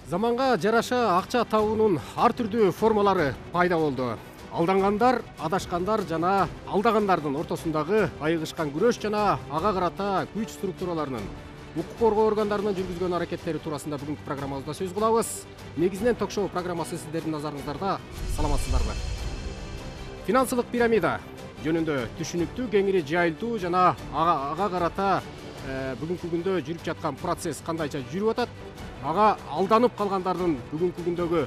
Заманга жараша акча табуунун ар түрдүү формалары пайда болду. Алдангандар, адашкандар жана алдагандардын ортосундагы айыгышкан күрөш жана ага карата күч структураларынын укук коргоо органдарынын жүргүзгөн аракеттери туурасында бүгүнкү программабызда сөз кылабыз. Негизинен ток-шоу программасы сиздердин назарыңыздарда. Саламатсыздарбы? Финансылык пирамида жөнүндө түшүнүктүү, кеңири жайылтуу жана ага карата бүгүнкү күндө жүрүп жаткан процесс кандайча жүрүп атат? Ага алданып калгандардын бүгүнкү күндөгү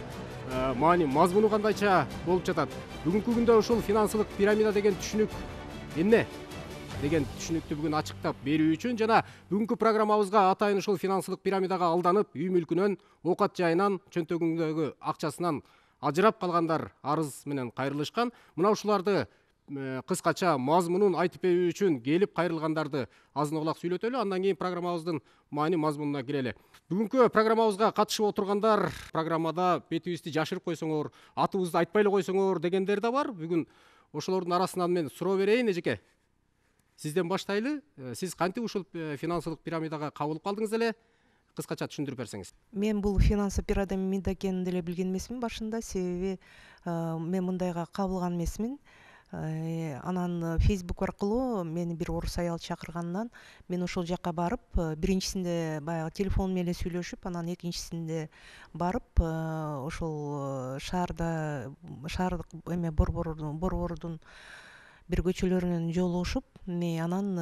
маани мазмуну кандайча болуп жатат? Бүгүнкү күндө ушул финансылык пирамида деген түшүнүк эмне деген түшүнүктү бүгүн ачыктап берүү үчүн жана бүгүнкү программабызга атайын ушул финансылык пирамидага алданып, үй мүлкүнөн, оокат жайынан, чөнтөгүндөгү акчасынан ажырап калгандар арыз менен кайрылышкан. Мына ушуларды кыскача мазмунун айтып берүү үчүн келип кайрылгандарды азын улак сүйлөтөлү, андан кийин программабыздын маани мазмунуна кирели. Бүгүнкү программабызга катышып отургандар программада бетибизди жашырып койсоңор, атыбызды айтпай эле койсоңор дегендер да бар. Бүгүн ошолордун арасынан мен суроо берейин. Эжеке, сизден баштайлы. Сиз кантип ушул финансылык пирамидага кабылып калдыңыз эле? Кыскача түшүндүрүп берсеңиз. Мен бул финансылык пирамида экенин деле билген эмесмин башында, себеби мен мындайга кабылган эмесмин. Анан Facebook аркылуу мени бир орус аял чакыргандан мен ошол жака барып, биринчисинде баягы телефон менен эле сүйлөшүп, анан экинчисинде барып ошол шаардык борбордун бир көчөлөрүнөн жолугушуп, анан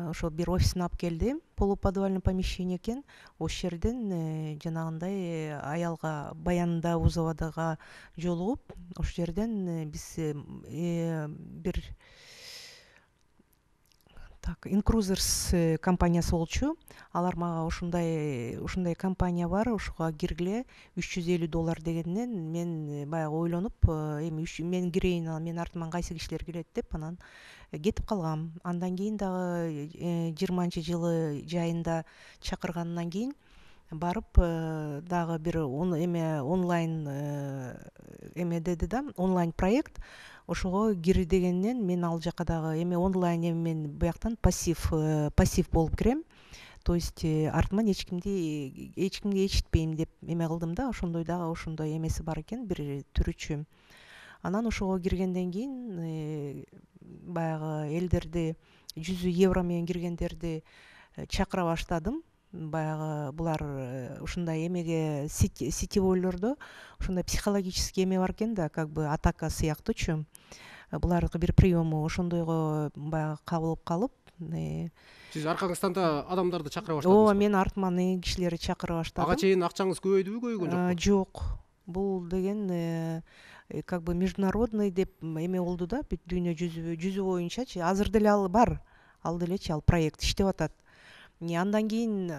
ошо бир офисине алып келди. Полуподвальный помещение экен. Ошол жерден жанагындай аялга баянда УЗОдага жолугуп, ошол жерден биз бир Incruzers компаниясы болчу. Алар мага ушундай компания бар, ошого киргиле $350 дегенден мен баягы ойлонуп, эми мен кирейин, менин артыман кайсы кишилер кирет деп анан кетип калгам. Андан кийин дагы 20-жылы жайында чакыргандан кийин барып дагы бир онлайн деди да, онлайн проект. Ошого кир дегенден мен ал жака дагы онлайн мен бияктан пассив болуп кирем. То есть артыман эчкимге эчитпейм деп кылдым да. Ошондой дагы ошондой эмеси бар экен, бир түрүчү. Анан ошого киргенден кийин баягы элдерди €100 менен киргендерди чакыра баштадым. Баягы булар ушундай эмеге сетевойлордо ушундай психологический эме бар экен да, как бы атака сыяктуучу. Булардыкы бир приему ошондойго баягы кабылып калып, Сиз аркаңыздан да адамдарды чакыра баштадыңыз. Ооба, мен артыман кишилерди чакыра баштадым. Ага чейин акчаңыз көбөйдүбү, көбөйгөн жокпу? Жок. Бул деген как бы международный деп болду да, бүт дүйнө жүзү боюнчачы. Азыр деле ал бар. Ал делечи, ал проект иштеп атат. Андан кийин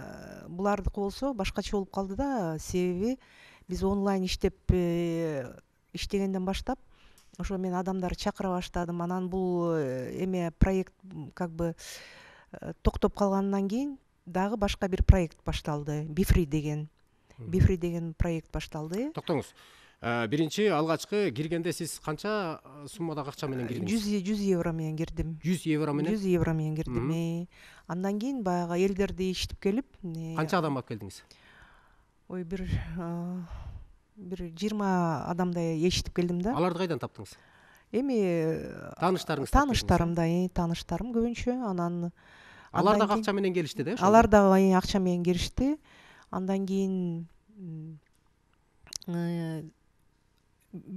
булардыкы болсо башкача болуп калды да, себеби биз онлайн иштегенден баштап ошо мен адамдарды чакыра баштадым. Анан бул проект как бы токтоп калгандан кийин дагы башка бир проект башталды. Бифри деген проект башталды. Токтоңуз. Биринчи алгачкы киргенде сиз канча суммадагы акча менен кирдиңиз? €100 менен кирдим. €100 менен? €100 менен кирдим. Андан кийин баягы элдерди ичтип келип, канча адам алып келдиңиз? Ой, бир 20 адамдай ичтип келдим да. Аларды кайдан таптыңыз? Тааныштарым көбүнчө. Анан алар дагы акча менен келишти да? Алар дагы акча менен киришти. Андан кийин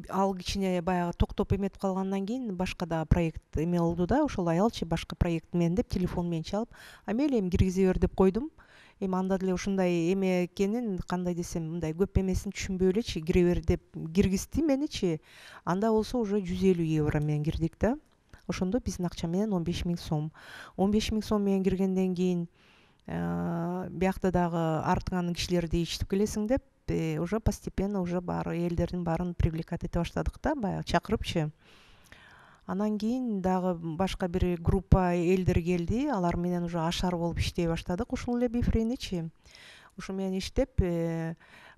ал кичине баягы токтоп эметип калгандан кийин башка да проект болду да. Ошол аялчы башка проект менен деп телефон менен чалып, мейли киргизе бер деп койдум. Анда деле ушундай эме экенин, кандай десем, мындай көп эмесин түшүнбөй элечи, кире бер деп киргизди меничи. Анда болсо уже €150 менен кирдик да. Ошондо биздин акча менен 15 000 сом. 15 000 сом менен киргенден кийин биякта дагы артыңан кишилерди ичтип келесиң деп, уже постепенно уже баары элдердин баарын привлекать эте баштадык да, баягы чакырыпчы. Анан кийин дагы башка бир группа элдер келди. Алар менен уже ашар болуп иштей баштадык. Ушул эле бифриничи. Ушу менен иштеп,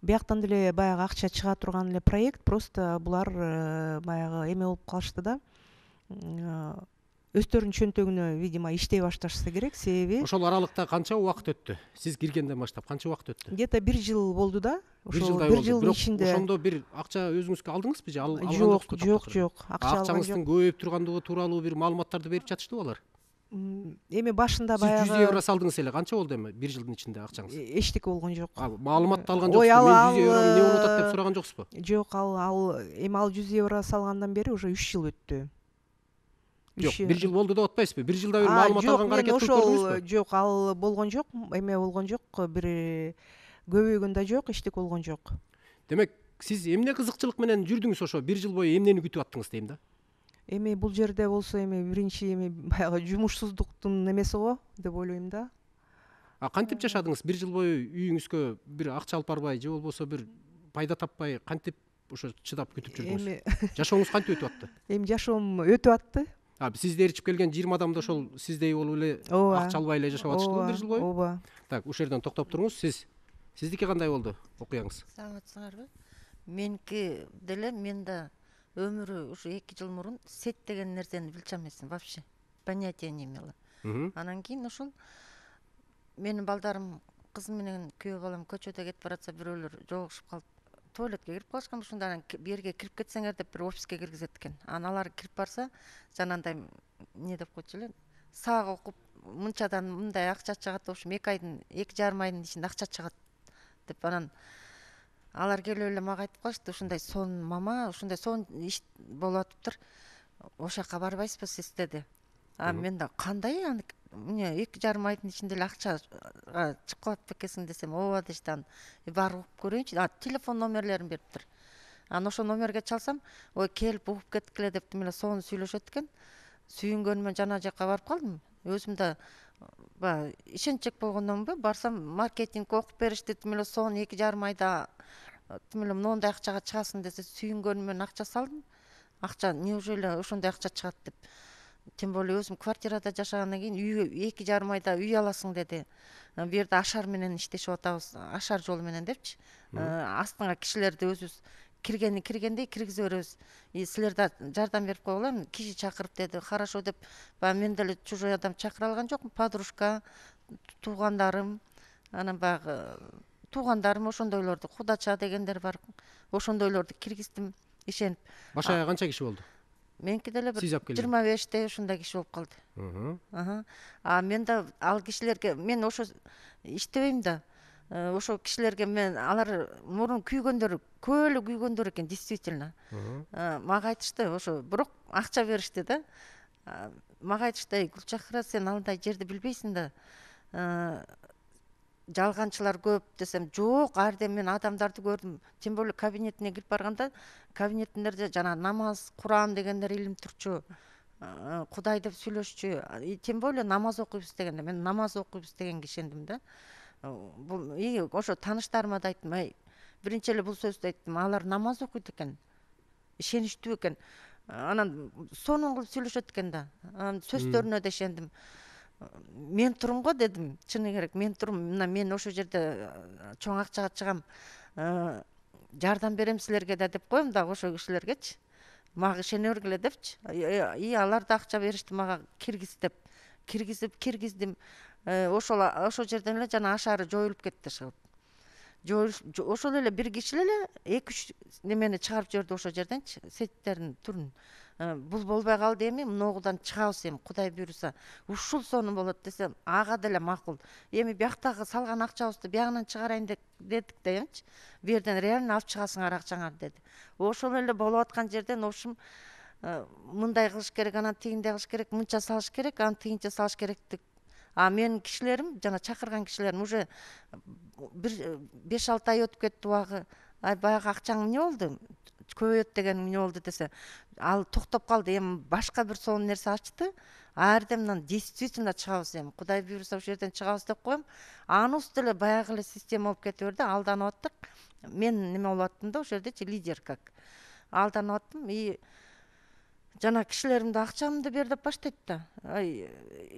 бияктан деле баягы акча чыга турган эле проект, просто булар баягы болуп калышты да. Өздөрүнүн чөнтөгүнө, видимо, иштей башташса керек, себеби ошол аралыкта канча убакыт өттү? Сиз киргенден баштап канча убакыт өттү? Где-то 1 жыл болду да. бир ошол жылдай бир болду. жылдын Бирок ичинде ошондо бир акча өзүңүзгө алдыңызбы же алган жок жокпу? жок жок акча алган Акчаңыздын жок. көбөйүп тургандыгы тууралуу бир маалыматтарды берип жатыштыбы алар? Эми башында Сиз 100 баягы евро салдыңыз эле, канча болду эми бир жылдын ичинде акчаңыз? эчтеке болгон жок. Маалыматты алган Ой, жоксузбу? Мен 100 ал еврону эмне болуп атат деп сураган жоксузбу? жок, ал 100 евро салгандан бери уже 3 жыл өттү. Жок, бир жыл болду деп атпайсызбы? Бир жылда бир маалымат жок, алганга мен аракет кылып ошол көрдүңүзбү? жок, ал болгон жок, эме болгон жок, бир көбөйгөн да жок, эчтеке болгон жок. Демек, сиз эмне кызыкчылык менен жүрдүңүз ошо бир жыл бою эмнени күтүп аттыңыз дейм да? Эми бул жерде болсо эми биринчи эми баягы жумушсуздуктун немеси го деп ойлойм да. Кантип жашадыңыз? Бир жыл бою үйүңүзгө бир акча алып барбай же болбосо бир пайда таппай кантип ошо чыдап күтүп жүрдүңүз? Эми Жашооңуз кантип өтүп атты? эми жашоом өтүп атты. Сизди эричип келген 20 адам да ошол сиздей болуп эле Ооба. акча албай эле жашап атыштыбы бир жыл бою? Ооба. Так, ушул жерден токтоп туруңуз. Сиздики кандай болду окуяңыз? Саламатсыңарбы? Меники деле мен да өмүрү ушу 2 жыл мурун сет деген нерсени билчү эмесмин вообще. Понятия не имела. Анан кийин ошол менин балдарым, кызым менен күйөө балам көчөдө кетип баратса бирөөлөр жолугушуп калып туалетке кирип калышкан. Ушунда анан берге кирип кетсеңер деп бир офиске киргизет экен. Анан алар кирип барса жанагындай эмне деп койчу эле, саак окуп мынчадан мындай акча чыгат, в общем 2,5 айдын ичинде акча чыгат деп анан алар келип эле мага айтып калышты, ушундай сон мама, ушундай сон иш болуп атыптыр, ошол жака барбайсызбы сиз деди. Мен да кандай эмне 2,5 айдын ичинде эле акча чыгып калат бекесиң десем, ооба дешти. Анан барып угуп көрөйүнчү. Телефон номерлерин бериптир. Анан ошол номерге чалсам, ой келип угуп кеткиле деп эле сону сүйлөшөт экен. Сүйүнгөнүмөн жана жака барып калдым. Өзүм да баягы ишенчек болгондонбу, барсам маркетинг окуп беришти, эле сону 2,5 айда эле моундай акчага чыгасың десе, сүйүнгөнүмөн акча салдым. Акча неужели ошондой акча чыгат деп. Тем более өзүм квартирада жашагандан кийин 2,5 айда үй аласың деди. Бу жерде ашар менен иштешип атабыз, ашар жолу менен депчи. Астыңа кишилерди өзүбүз киргендей киргизе беребиз. Силер да жардам берип койгула, киши чакырып деди. Хорошо деп, баягы мен деле чужой адам чакыра алган жокмун. Подружка, туугандарым, анан баягы туугандарым ошондойлорду, кудача дегендер бар. Ошондойлорду киргиздим, ишенип. Башая канча киши болду? Меники деле бир Сиз алып келген? 25 ушундай киши болуп калды. Мен да ал кишилерге, мен ошо иштебейм да. Ошо кишилерге мен алар мурун күйгөндөр, көп эле күйгөндөр экен, действительно. Мага айтышты, ошо бирок акча беришти да. Мага айтышты, Гүлчахира, сен андай жерди билбейсиң да. Жалганчылар көп десем, жок, ардем мен адамдарды көрдүм. Тем более кабинетине кирип барганда, кабинетиндерде жана намаз, Куран дегендер илим турчу. Кудай деп сүйлөшчү. Тем более намаз окуйбуз дегенде, мен намаз окуйбуз дегенге ишендим да. Бул ошо тааныштарыма да айттым, биринчи эле бул сөздү айттым, алар намаз окуйт экен, ишеничтүү экен. Анан сонун кылып сүйлөшөт экен да. Анан сөздөрүнө да ишендим. Мен турум го дедим, чыны керек, мен турум. Мына мен ошол жерде чоң акчага чыгам, жардам берем силерге да деп коем да ошол кишилергечи. Мага ишене бергиле депчи. Алар да акча беришти мага киргиз деп. Киргиздим. Ошол жерден эле жана ашары жоюлуп кетти чыгып. Ошол эле бир киши эле 2-3 немени чыгарып жиберди ошол жерденчи, сеттердин түрүн. Бул болбой калды, эми мыногудан чыгабыз, эми Кудай буйруса. Ушул сону болот десем, ага деле макул. Эми бияктагы салган акчабызды биягынан чыгарайын дедик да эмчи. Бу жерден реально алып чыгасыңар акчаңарды деди. Ошол эле болуп аткан жерден ошум мындай кылыш керек, анан тигиндей кылыш керек, мынча салыш керек, анан тигинче салыш керек деп. Менин кишилерим, жана чакырган кишилерим уже бир 5-6 ай өтүп кетти убагы. Баягы акчаң эмне болду? Көбөйөт деген эмне болду десе, ал токтоп калды. Эми башка бир сонун нерсе ачты. Ардемнан действительно чыгабыз, эми Кудай буйруса ошол жерден чыгабыз деп коем. Анысы деле баягы эле система болуп кетип берди. Алданып аттык. Мен неме болуп аттым да ошол жердечи, лидер как. Алданып аттым. Жана кишилерим да акчамды бер деп баштайт да.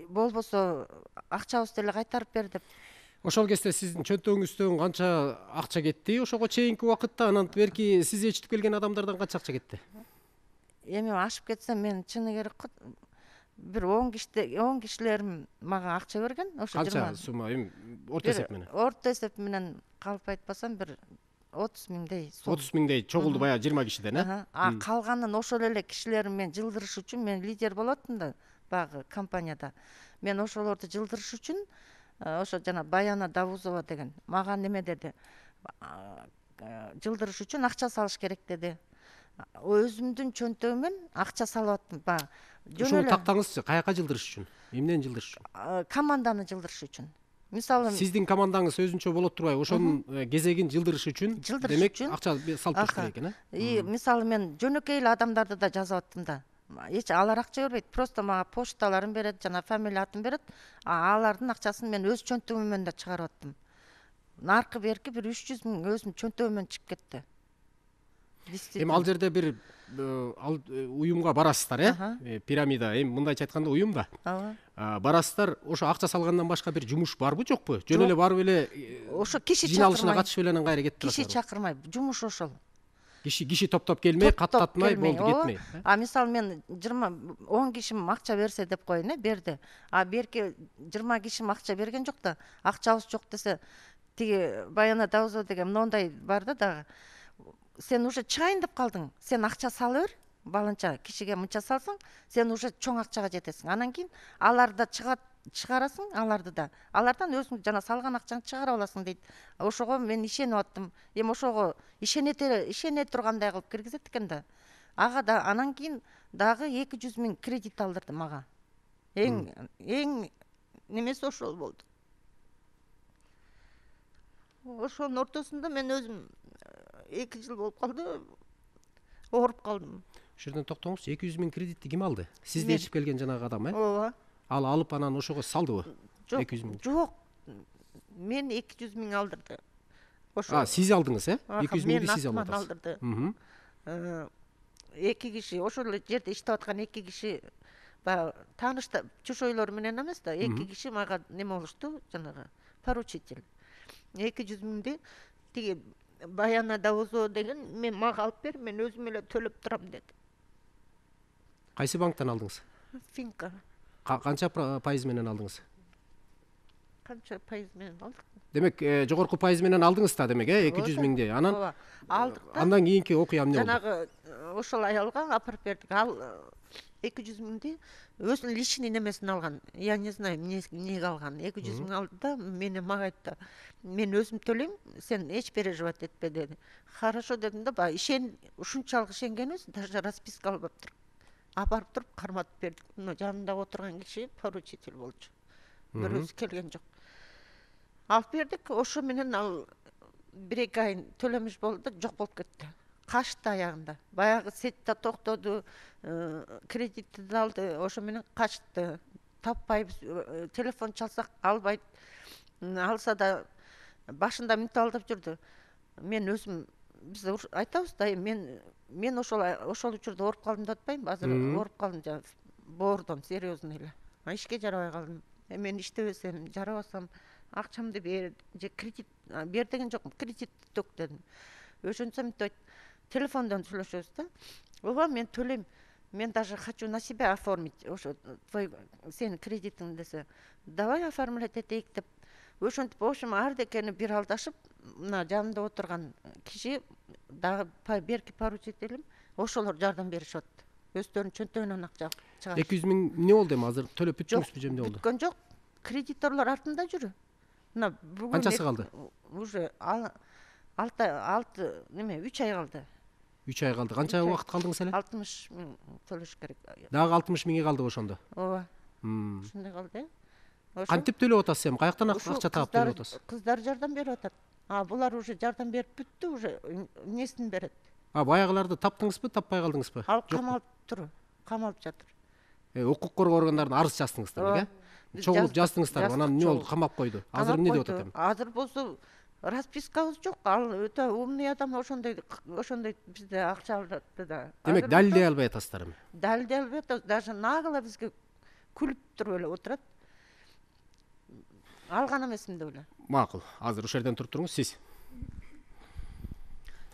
Болбосо акчабызды эле кайтарып бер деп. Ошол кезде сиздин чөнтөгүңүздөн канча акча кетти ошого чейинки убакытта? Анан берки сиз ээрчитип келген адамдардан канча акча кетти? Эми ашып кетсе, мен чыны керек бир 10 кишилерим мага акча берген. Ошо Канча сумма? Эми орто эсеп менен. Орто эсеп менен калп айтпасам бир 30 миңдей сом. 30 миңдей чогулду баягы 20 кишиден, А калганын ошол эле кишилерин мен жылдырыш үчүн, мен лидер болуп аттым да баягы компанияда. Мен ошолорду жылдырыш үчүн ошо жана Баяна Давузова деген мага неме деди, жылдырыш үчүн акча салыш керек деди. Өзүмдүн чөнтөгүмөн акча салып аттым баягы. Ошону тактаңызчы, каяка жылдырыш үчүн, эмнени жылдырыш үчүн? Команданы жылдырыш үчүн. Мисалы Сиздин командаңыз өзүнчө болот турбайбы, ошонун кезегин жылдырыш үчүн демек акча салып туруш керек экен, И мисалы мен жөнөкөй эле адамдарды да жазып аттым да. Эч алар акча бербейт, просто мага почталарын берет, жана фамилия атын берет. Алардын акчасын мен өз чөнтөгүмөн да чыгарып аттым. Наркы берки бир 300 миң өзүм чөнтөгүмөн чыгып кетти. Эми ал жерде бир уюмга барасыздар, пирамида, эми мындайча айтканда уюм да. Барасыздар, ошо акча салгандан башка бир жумуш барбы, жокпу? Жөн эле барып эле ошо киши жыйналышына катышып эле анан кайра кетип Киши турасызбы? чакырмай, жумуш ошол. Киши топтоп келмей, каттатмай болду, кетмей. Мисалы мен 10 кишим акча берсе деп коеюн, берди. Берки 20 кишим акча берген жок да, акчабыз жок десе, тиги Баяна Давузова деген моундай бар да дагы. Сен уже чыгайын деп калдың, сен акча сала бер, баланча кишиге мынча салсаң, сен уже чоң акчага жетесиң. Анан кийин аларды чыгарасың, аларды да. Алардан өзүң жана салган акчаңды чыгарып аласың дейт. Ошого мен ишенип аттым. Эми ошого ишене тургандай кылып киргизет экен да. Ага да анан кийин дагы 200 миң кредит алдырды мага. Эң немеси ошол болду. Ошонун ортосунда мен өзүм 2 жыл болуп калды, ооруп калдым. Ошол жерден токтоңузчу, 200 миң кредитти ким алды? Сизди ээрчип келген жанагы адам, Ооба. Ал алып анан ошого салдыбы? 200 миң. Жок. Мен 200 миң алдырды. Ошо. Сиз алдыңыз, 200 миңди сиз алып атасыз. Алдырды. 2 киши, ошол жерде иштеп аткан 2 киши баягы тааныш чошойлор менен эмес да, 2 киши мага неме болушту, жанагы поручитель. 200 миңди тиги Баяна Давузова деген мен мага алып бер, мен өзүм эле төлөп турам деди. Кайсы банктан алдыңыз? Финка. Канча пайыз менен алдыңыз? Канча пайыз менен алдык? Демек, жогорку пайыз менен алдыңыз да, демек, 200 миңди. Анан алдык да. Андан кийинки окуя эмне болду? Жанагы ошол аялга апарып бердик. Ал 200 миңди өзүнүн личный немесин алган. Я не знаю, эмнеге алган. 200 миң алды да, мага айтты. Мен өзүм төлөйм, сен эч переживать этпе деди. Хорошо дедим да, ушунчалык ишенгенбиз, даже расписка албаптыр. Апарып туруп карматып бердик. Мына жанымда отурган киши поручитель болчу. Бирөөсү келген жок. Алып бердик, ошо менен ал 1-2 ай төлөмүш болду да, жок болуп кетти. Качты аягында. Баягы сетте токтоду, кредитти да алды, ошо менен качты. Таппайбыз, телефон чалсак албайт. Алса да башында мынтип алдап жүрдү. Мен өзүм биз айтабыз да, мен ошол учурда ооруп калдым деп атпайм, азыр ооруп калдым, жана боордон серьезный эле. Ишке жарабай калдым. Мен иштебесем, жарабасам акчамды бер, же кредит бер деген жокмун, кредитти төк дедим. Ошентсе мынтип телефондон сүйлөшөбүз да. Ооба, мен төлөйм. Мен даже хочу на себя оформить, ошо твой сенин кредитиң десе. Давай оформлять этейик деп. Ошентип, в общем, ардекени бир алдашып, мына жанымда отурган киши дагы берки поручителим, ошолор жардам беришип атты. Өздөрүнүн чөнтөгүнөн акча чыгарып. 200 миң эмне болду эми? Азыр төлөп бүттүңүзбү же эмне болду? Бүткөн жок. Кредиторлор артында жүрү. Мына бүгүн Канчасы калды? Уже 3 ай калды. 3 ай калды. Канча убакыт калдыңыз эле? 60 миң төлөш керек. Дагы 60 миңи калды ошондо. Ооба. Ушундай калды. Кантип төлөп атасыз эми? Каяктан акча таап төлөп атасыз? Кыздар жардам берип атат. Булар уже жардам берип бүттү, уже эмнесин берет. Баягыларды таптыңызбы, таппай калдыңызбы? Ал камалып жатыр. Укук коргоо органдарына арыз жаздыңыздар, чогулуп жаздыңыздар, анан эмне болду? Камап койду. Азыр эмне деп атат эми? Азыр болсо распискабыз жок. Ал өтө умный адам, ошондой бизде акча алдырды да. Демек, далилдей албай атасыздар эми? Далилдей албай атабыз. Даже нагло бизге күлүп туруп эле отурат. Алган эмесмин деп эле. Макул. Азыр ошол жерден туруп туруңуз, сиз.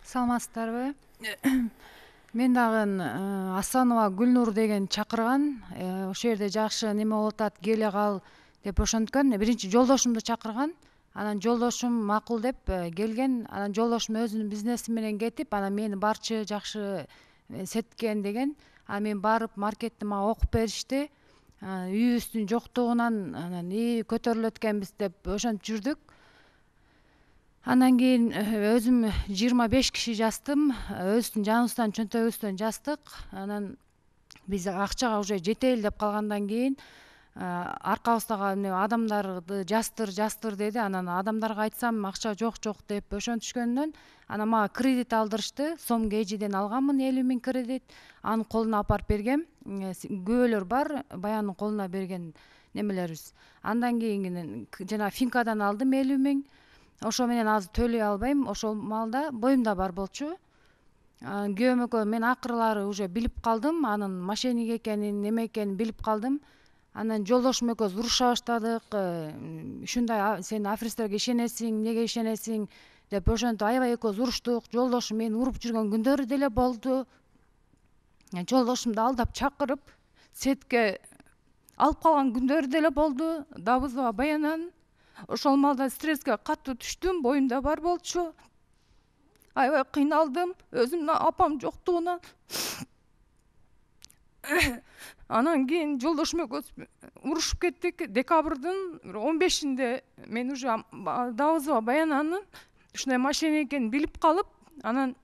Саламатсыздарбы? Мен дагы Асанова Гүлнур деген чакырган. Ошол жерде жакшы неме болуп атат, келе кал деп ошонткөн. Биринчи жолдошумду чакырган. Анан жолдошум макул деп келген. Анан жолдошум өзүнүн бизнеси менен кетип, анан мени барчы жакшы сеткен деген. Анан мен барып маркетти мага окуп беришти. Үйүбүздүн жоктугунан анан көтөрүлөт экенбиз деп ошентип жүрдүк. Андан кийин өзүм 25 киши жаздым. Өзүбүздүн жаныбыздан, чөнтөгүбүздөн жаздык. Анан биз акчага уже жетели деп калгандан кийин аркабыздагы адамдарды жастыр деди. Анан адамдарга айтсам акча жок деп ошентишкөндөн анан мага кредит алдырышты. Сом Кейжиден алганмын 50 000 кредит. Анын колуна апарып бергем. Күбөлөр бар, баянын колуна берген немелерибиз. Андан кийин жана Финкадан алдым 50 000. Ошо менен азыр төлөй албайм. Ошол маалда боюмда бар болчу. Күйөөм экөө мен акырлары уже билип калдым. Анын мошенник экенин, неме экенин билип калдым. Анан жолдошум экөөбүз уруша баштадык. Ушундай сен аферисттерге ишенесиң, эмнеге ишенесиң деп ошентип аябай экөөбүз уруштук. Жолдошум мени уруп жүргөн күндөрү деле болду. Жолдошумду алдап чакырып, сетке алып калган күндөрү деле болду. Давызова Баянанын. Ошол маалда стресске катуу түштүм, боюмда бар болчу. Аябай кыйналдым, өзүмдүн апам жоктугунан. Анан кийин жолдошум экөөбүз урушуп кеттик. Декабрдын 15-инде мен уже Давызова Баянанын ушундай мошенник экенин билип калып, анан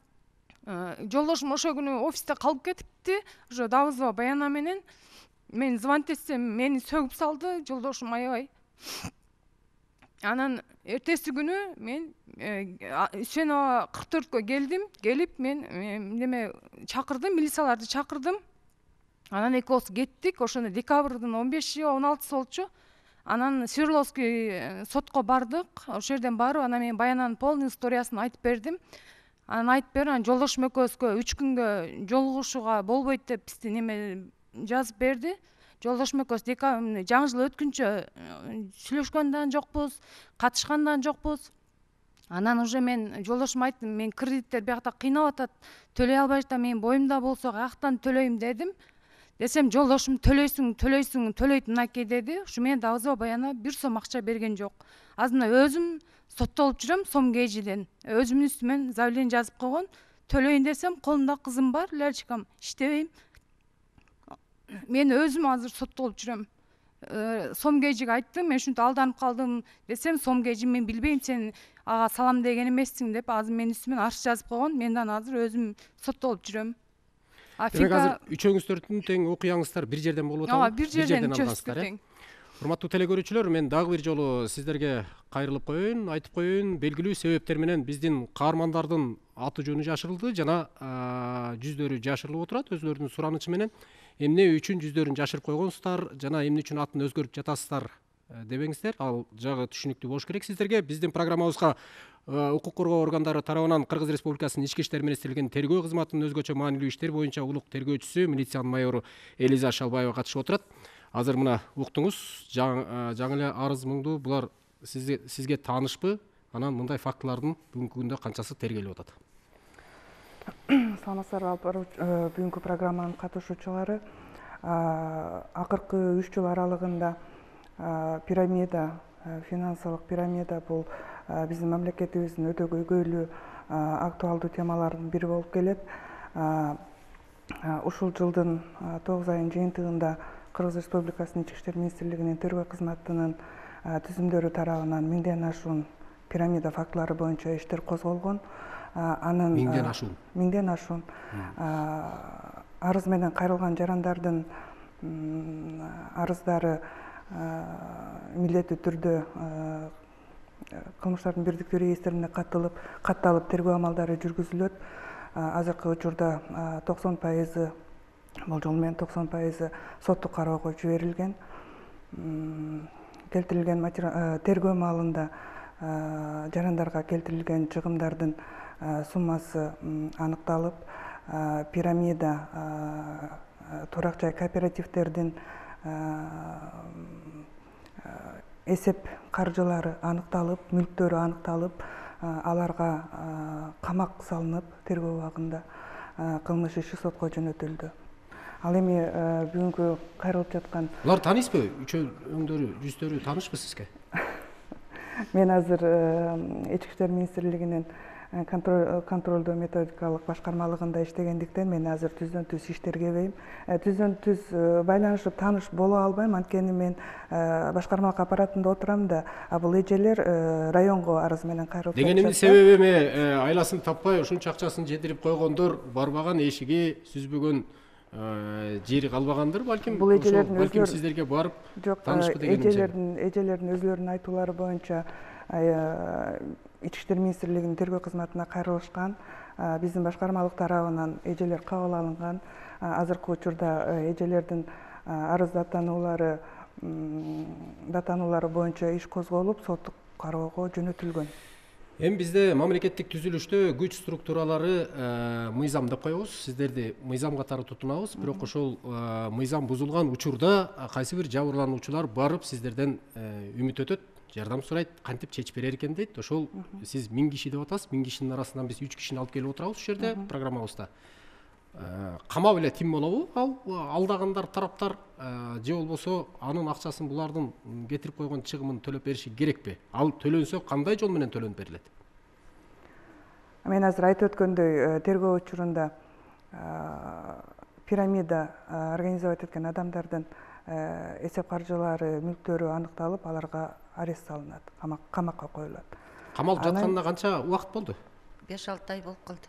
жолдошум ошол күнү офисте калып кетипти. Уже Давызова Баяна менен мен звонить этсем, мени сөгүп салды жолдошум аябай. Анан эртеси күнү мен Үсөнова 44кө келдим. Келип мен неме чакырдым, милицияларды чакырдым. Анан экөөбүз кеттик. Ошондо декабрдын 15-16 болчу. Анан Свердловский сотко бардык. Ошол жерден барып, анан мен Баянанын полный историясын айтып бердим. Анан жолдошум экөөбүзгө 3 күнгө жолугушууга болбойт деп бизди неме жазып берди. Жолдошум экөөбүз жаңы жыл өткүнчө сүйлөшкөн да жокпуз, катышкан да жокпуз. Анан уже мен жолдошума айттым, мен кредиттер биякта кыйнап атат, төлөй албай жатам, мен боюмда болсо каяктан төлөйм дедим. Десем жолдошум төлөйт мынакей деди. Ушу менен Давызова Баяна 1 сом акча берген жок. Азыр өзүм соттолуп жүрөм Сом Кейжиден. Өзүмдүн үстүмөн заявление жазып койгон. Төлөйүн десем, колумда кызым бар, Лялечкам, иштебейм. Мен өзүм азыр соттолуп жүрөм. Сом Кейжиге айттым, мен ушинтип алданып калдым десем, Сом Кейжи мен билбейм, сен ага салам деген эмессиң деп азыр менин үстүмөн арыз жазып койгон. Мен азыр өзүм соттолуп жүрөм. Демек азыр үчөөңүздөрдүн тең окуяңыздар бир жерден болуп атабы? Ооба, бир жерден алгансыздар. Урматтуу телекөрүүчүлөр, мен дагы бир жолу сиздерге кайрылып коеюн, айтып коеюн, белгилүү себептер менен биздин каармандардын аты жөнү жашырылды жана жүздөрү жашырылып отурат өзүлөрүнүн суранычы менен. Эмне үчүн жүздөрүн жашырып койгонсуздар жана эмне үчүн атын өзгөртүп жатасыздар дебеңиздер. Ал жагы түшүнүктүү болуш керек сиздерге. Биздин программабызга укук коргоо органдары тарабынан Кыргыз Республикасынын Ички иштер министрлигинин тергөө кызматынын өзгөчө маанилүү иштер боюнча улук тергөөчүсү милициянын майору Элиза Шалбаева катышып отурат. Азыр мына уктуңуз, жаңы эле арыз муңду булар сизге таанышпы? Анан мындай фактылардын бүгүнкү күндө канчасы тергелип атат? Саламатсыздарбы, бүгүнкү программанын катышуучулары. Акыркы 3 жыл аралыгында пирамида, финансылык пирамида бул биздин мамлекетибиздин өтө көйгөйлүү актуалдуу темалардын бири болуп келет. Ушул жылдын 9 айынын жыйынтыгында Кыргыз Республикасынын Ички иштер министрлигинин тергөө кызматынын түзүмдөрү тарабынан 1000ден ашуун пирамида фактылары боюнча иштер козголгон. Анын 1000ден ашуун арыз менен кайрылган жарандардын арыздары милдеттүү түрдө кылмыштардын бирдиктүү реестрине катталып тергөө амалдары жүргүзүлөт. Азыркы учурда 90% болжол менен 90% соттук кароого жиберилген. Келтирилген тергөө маалында жарандарга келтирилген чыгымдардын суммасы аныкталып, пирамида турак жай кооперативдердин эсеп каржылары аныкталып, мүлктөрү аныкталып, аларга камак салынып, тергөө убагында кылмыш иши сотко жөнөтүлдү. Ал эми бүгүнкү кайрылып жаткан булар таанысызбы? Үчөөңдөрү, жүздөрү таанышпы сизге? Мен азыр Ички иштер министрлигинин контролдоо методикалык башкармалыгында иштегендиктен мен азыр түздөн түз иштергебейм. Түздөн түз байланышып тааныш боло албайм, анткени мен башкармалык аппаратында отурам да, бул эжелер районго арыз менен кайрылып дегенимдин себеби эми айласын таппай ушунча акчасын жетирип койгондор барбаган, эшиги сүзбөгөн жери калбагандыр балким. Бул эжелердин балким сиздерге барып таанышпы дегеним. Эжелердин өзлөрүнүн айтуулары боюнча Ички иштер министрлигинин тергөө кызматына кайрылышкан, биздин башкармалык тарабынан эжелер кабыл алынган. Азыркы учурда эжелердин арыз даттануулары боюнча иш козголуп, соттук кароого жөнөтүлгөн. Эми бизде мамлекеттик түзүлүштө күч структуралары мыйзам деп коебуз. Сиздерди мыйзам катары тутунабыз, бирок ошол мыйзам бузулган учурда кайсы бир жабырлануучулар барып сиздерден үмүт өтөт, жардам сурайт, кантип чечип берер экен дейт. Ошол сиз 1000 киши деп атасыз, 1000 кишинин арасынан биз 3 кишини алып келип отурабыз ушул жерде программабызда. Камап эле тим болобу ал алдагандар тараптар, же болбосо анын акчасын булардын кетирип койгон чыгымын төлөп бериши керекпи? Ал төлөнсө кандай жол менен төлөнүп берилет? Мен азыр айтып өткөндөй, тергөө учурунда пирамида организовать эткен адамдардын эсеп каржылары, мүлктөрү аныкталып, аларга арест салынат, камакка коюлат. Камалып жатканына канча убакыт болду? 5-6 ай болуп калды.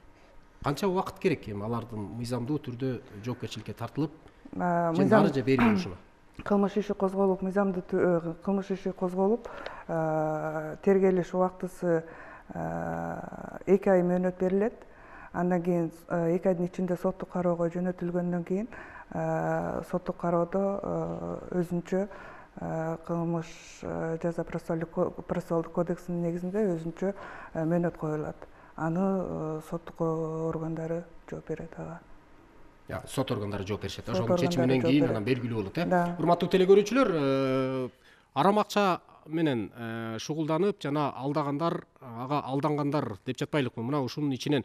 Канча убакыт керек эми алардын мыйзамдуу түрдө жоопкерчиликке тартылып, мыйзам же бери болушуна? Кылмыш иши козголуп, мыйзамдуу кылмыш иши козголуп, тергелиш убактысы 2 ай мөөнөт берилет. Андан кийин 2 айдын ичинде соттук кароого жөнөтүлгөндөн кийин соттук кароодо өзүнчө кылмыш жаза процессуалдык кодексинин негизинде өзүнчө мөөнөт коюлат. Аны соттук органдары жооп берет ага. Сот органдары жооп беришет. Ошонун чечиминен кийин анан белгилүү болот, Урматтуу телекөрүүчүлөр, арам акча менен шугулданып жана алдагандар, ага алдангандар деп жатпайлыкпы. Мына ушунун ичинен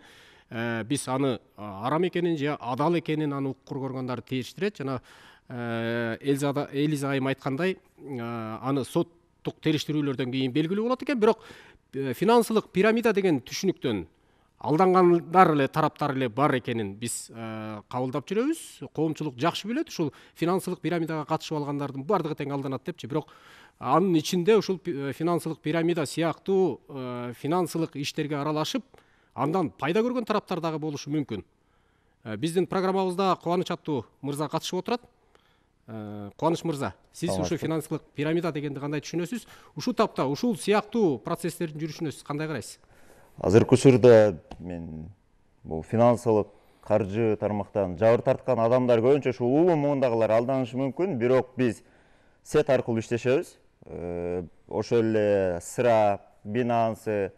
биз аны арам экенин же адал экенин аны укур көргөндөр териштирет. Жана Элиза айым айткандай, аны соттук териштирүүлөрдөн кийин белгилүү болот экен. Бирок финансылык пирамида деген түшүнүктөн алдангандар эле тараптар эле бар экенин биз кабылдап жүрөбүз. Коомчулук жакшы билет, ушул финансылык пирамидага катышып алгандардын бардыгы тең алданат депчи. Бирок анын ичинде ушул финансылык пирамида сыяктуу финансылык иштерге аралашып, андан пайда көргөн тараптар дагы болушу мүмкүн. Биздин программабызда Кубаныч аттуу мырза катышып отурат. Кубаныч мырза, сиз ушу финансылык пирамида дегенди кандай түшүнөсүз? Ушул тапта ушул сыяктуу процесстердин жүрүшүнө сиз кандай карайсыз? Азыркы учурда мен бул финансылык каржы тармактан жабыр тарткан адамдар көбүнчө ушул улуу муундагылар алданышы мүмкүн, бирок биз сет аркылуу иштешебиз. Ошол эле Сыра, Binance,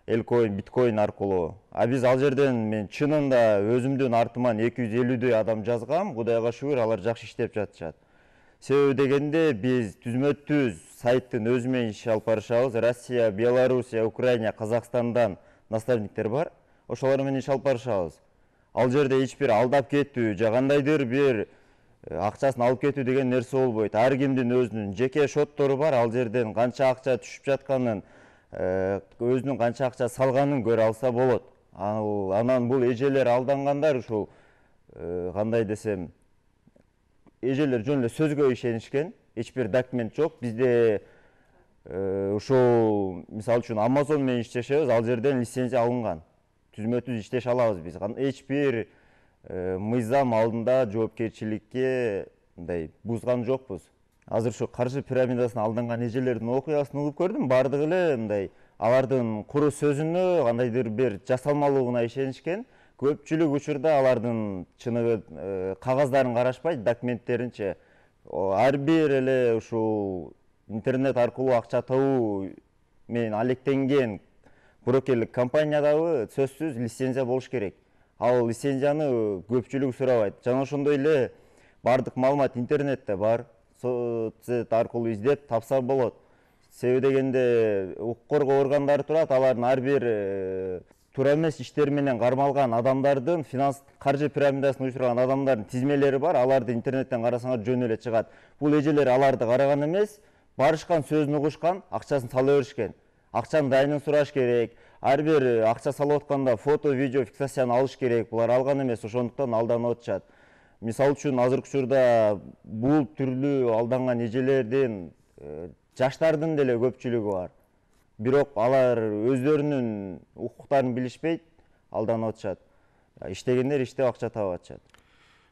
Элкоин, Биткоин аркылуу. Биз ал жерден мен чынында өзүмдүн артыман 250дөй адам жазгам. Кудайга шүгүр, алар жакшы иштеп жатышат. Себеби дегенде биз түзмө-түз сайттын өзү менен иш алып барышабыз. Россия, Белоруссия, Украина, Казакстандан наставниктер бар. Ошолор менен иш алып барышабыз. Ал жерде эч бир алдап кетүү же кандайдыр бир акчасын алып кетүү деген нерсе болбойт. Ар кимдин өзүнүн жеке шоттору бар. Ал жерден канча акча түшүп жатканын, өзүнүн канча акча салганын көрө алса болот. Анан бул эжелер алдангандар ушул кандай десем, эжелер жөн эле сөзгө ишенишкен, эч бир документ жок. Бизде ушул мисалы үчүн Amazon менен иштешебиз, ал жерден лицензия алынган. Түзмө-түз иштеше алабыз биз. Эч бир мыйзам алдында жоопкерчиликке мындай бузган жокпуз. Азыр ушу каржы пирамидасына алданган эжелердин окуясын угуп көрдүм. Бардыгы эле мындай алардын куру сөзүнө, кандайдыр бир жасалмалуугуна ишенишкен. Көпчүлүк учурда алардын чыныгы кагаздарын карашпайт, документтеринчи. Ар бир эле ушул интернет аркылуу акча табуу менен алектенген брокерлик компаниядагы сөзсүз лицензия болуш керек. Ал лицензияны көпчүлүк сурабайт. Жана ошондой эле бардык маалымат интернетте бар. Соцсет аркылуу издеп тапса болот. Себеби дегенде укук коргоо органдары турат, алардын ар бир туура эмес иштер менен кармалган адамдардын, финанс каржы пирамидасына учураган адамдардын тизмелери бар. Аларды интернеттен карасаңар жөн эле чыгат. Бул эжелер аларды караган эмес, барышкан, сөзүн угушкан, акчасын сала беришкен. акчанын дайынын сураш керек, ар бир акча салып атканда фото, видео фиксацияны алыш керек. Булар алган эмес, ошондуктан алданып атышат. Мисалы үчүн азыркы учурда бул түрлүү алданган эжелердин жаштардын деле көпчүлүгү бар. Бирок алар өздөрүнүн укуктарын билишпейт, алданып атышат. Иштегендер иштеп акча таап атышат.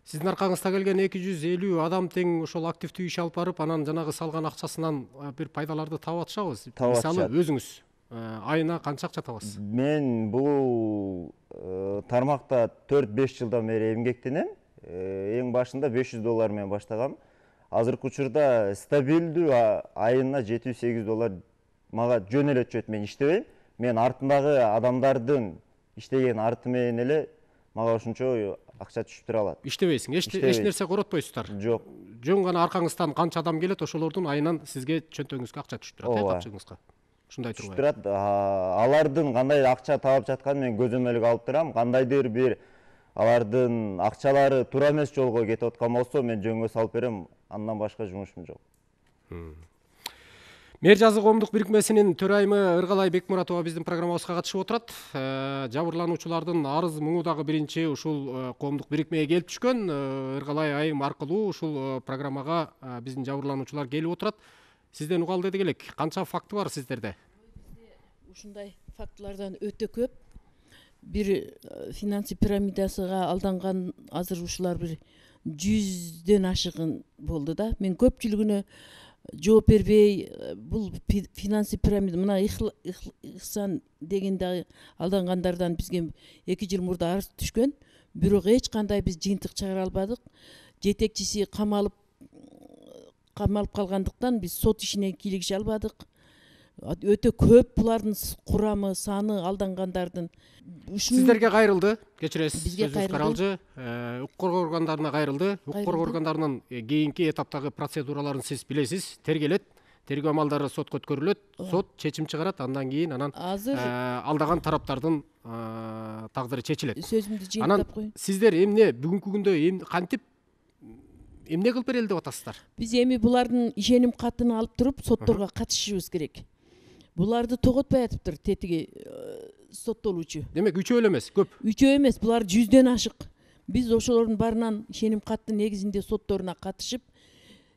Сиздин аркаңызда келген 250 адам тең ошол активдүү иш алып барып, анан жанагы салган акчасынан бир пайдаларды таап атышабыз. Мисалы өзүңүз айына канча акча табасыз? Мен бул тармакта 4-5 жылдан бери эмгектенем. Эң башында $500 менен баштагам. Азыркы учурда стабилдүү айына $700-800 мага жөн эле түшөт. Мен иштебейм. Мен артындагы адамдардын иштеген арты менен эле мага ошончо акча түшүп тура алат. Иштебейсиң, эч нерсе коротпойсуздар. Жок. Жөн гана аркаңыздан канча адам келет, ошолордун айынан сизге чөнтөгүңүзгө акча түшүп турат, капчыгыңызга. Ушундай турбайбы? Түшүп турат. Алардын кандай акча таап жатканын мен көзөмөлгө алып турам. Кандайдыр бир алардын акчалары туура эмес жолго кетип аткан болсо, мен жөнгө салып берем. Андан башка жумушум жок. Мэр жазы коомдук бирикмесинин төрайымы Ыргалай Бекмуратова биздин программабызга катышып отурат. Жабырлануучулардын арыз муңу дагы биринчи ушул коомдук бирикмеге келип түшкөн. Ыргалай айым аркылуу ушул программага биздин жабырлануучулар келип отурат. Сизден угалы дедик элек. Канча факты бар сиздерде? Ушундай фактылардан өтө көп. Бир финансы пирамидасыга алданган азыр ушулар бир 100ден ашыгын болду да. Мен көпчүлүгүнө жооп бербей, бул финансы пирамида мына Ихсан деген дагы алдангандардан бизге 2 жыл мурда арыз түшкөн. Бирок эч кандай биз жыйынтык чыгара албадык. Жетекчиси камалып калгандыктан биз сот ишине кийлигише албадык. Өтө көп булардын курамы, саны алдангандардын. Сиздерге кайрылды, кечиресиз. Бизге кайрылды. Укук коргоо органдарына кайрылды. Укук коргоо органдарынын кийинки этаптагы процедураларын сиз билесиз. Тергелет, тергөө амалдары сотко өткөрүлөт, сот чечим чыгарат, андан кийин анан алдаган тараптардын тагдыры чечилет. Сөзүмдү жыйынтап Анан коеюн. сиздер эмне бүгүнкү күндө кантип эмне кылып берели деп атасыздар? Биз эми булардын ишеним катын алып туруп сотторго катышышыбыз керек. Буларды тоготпой атыптыр тетиги соттолуучу. Демек 3 эле эмес, көп. 3 эмес, булар 100ден ашык. Биз ошолордун барынан ишеним каттын негизинде сотторуна катышып,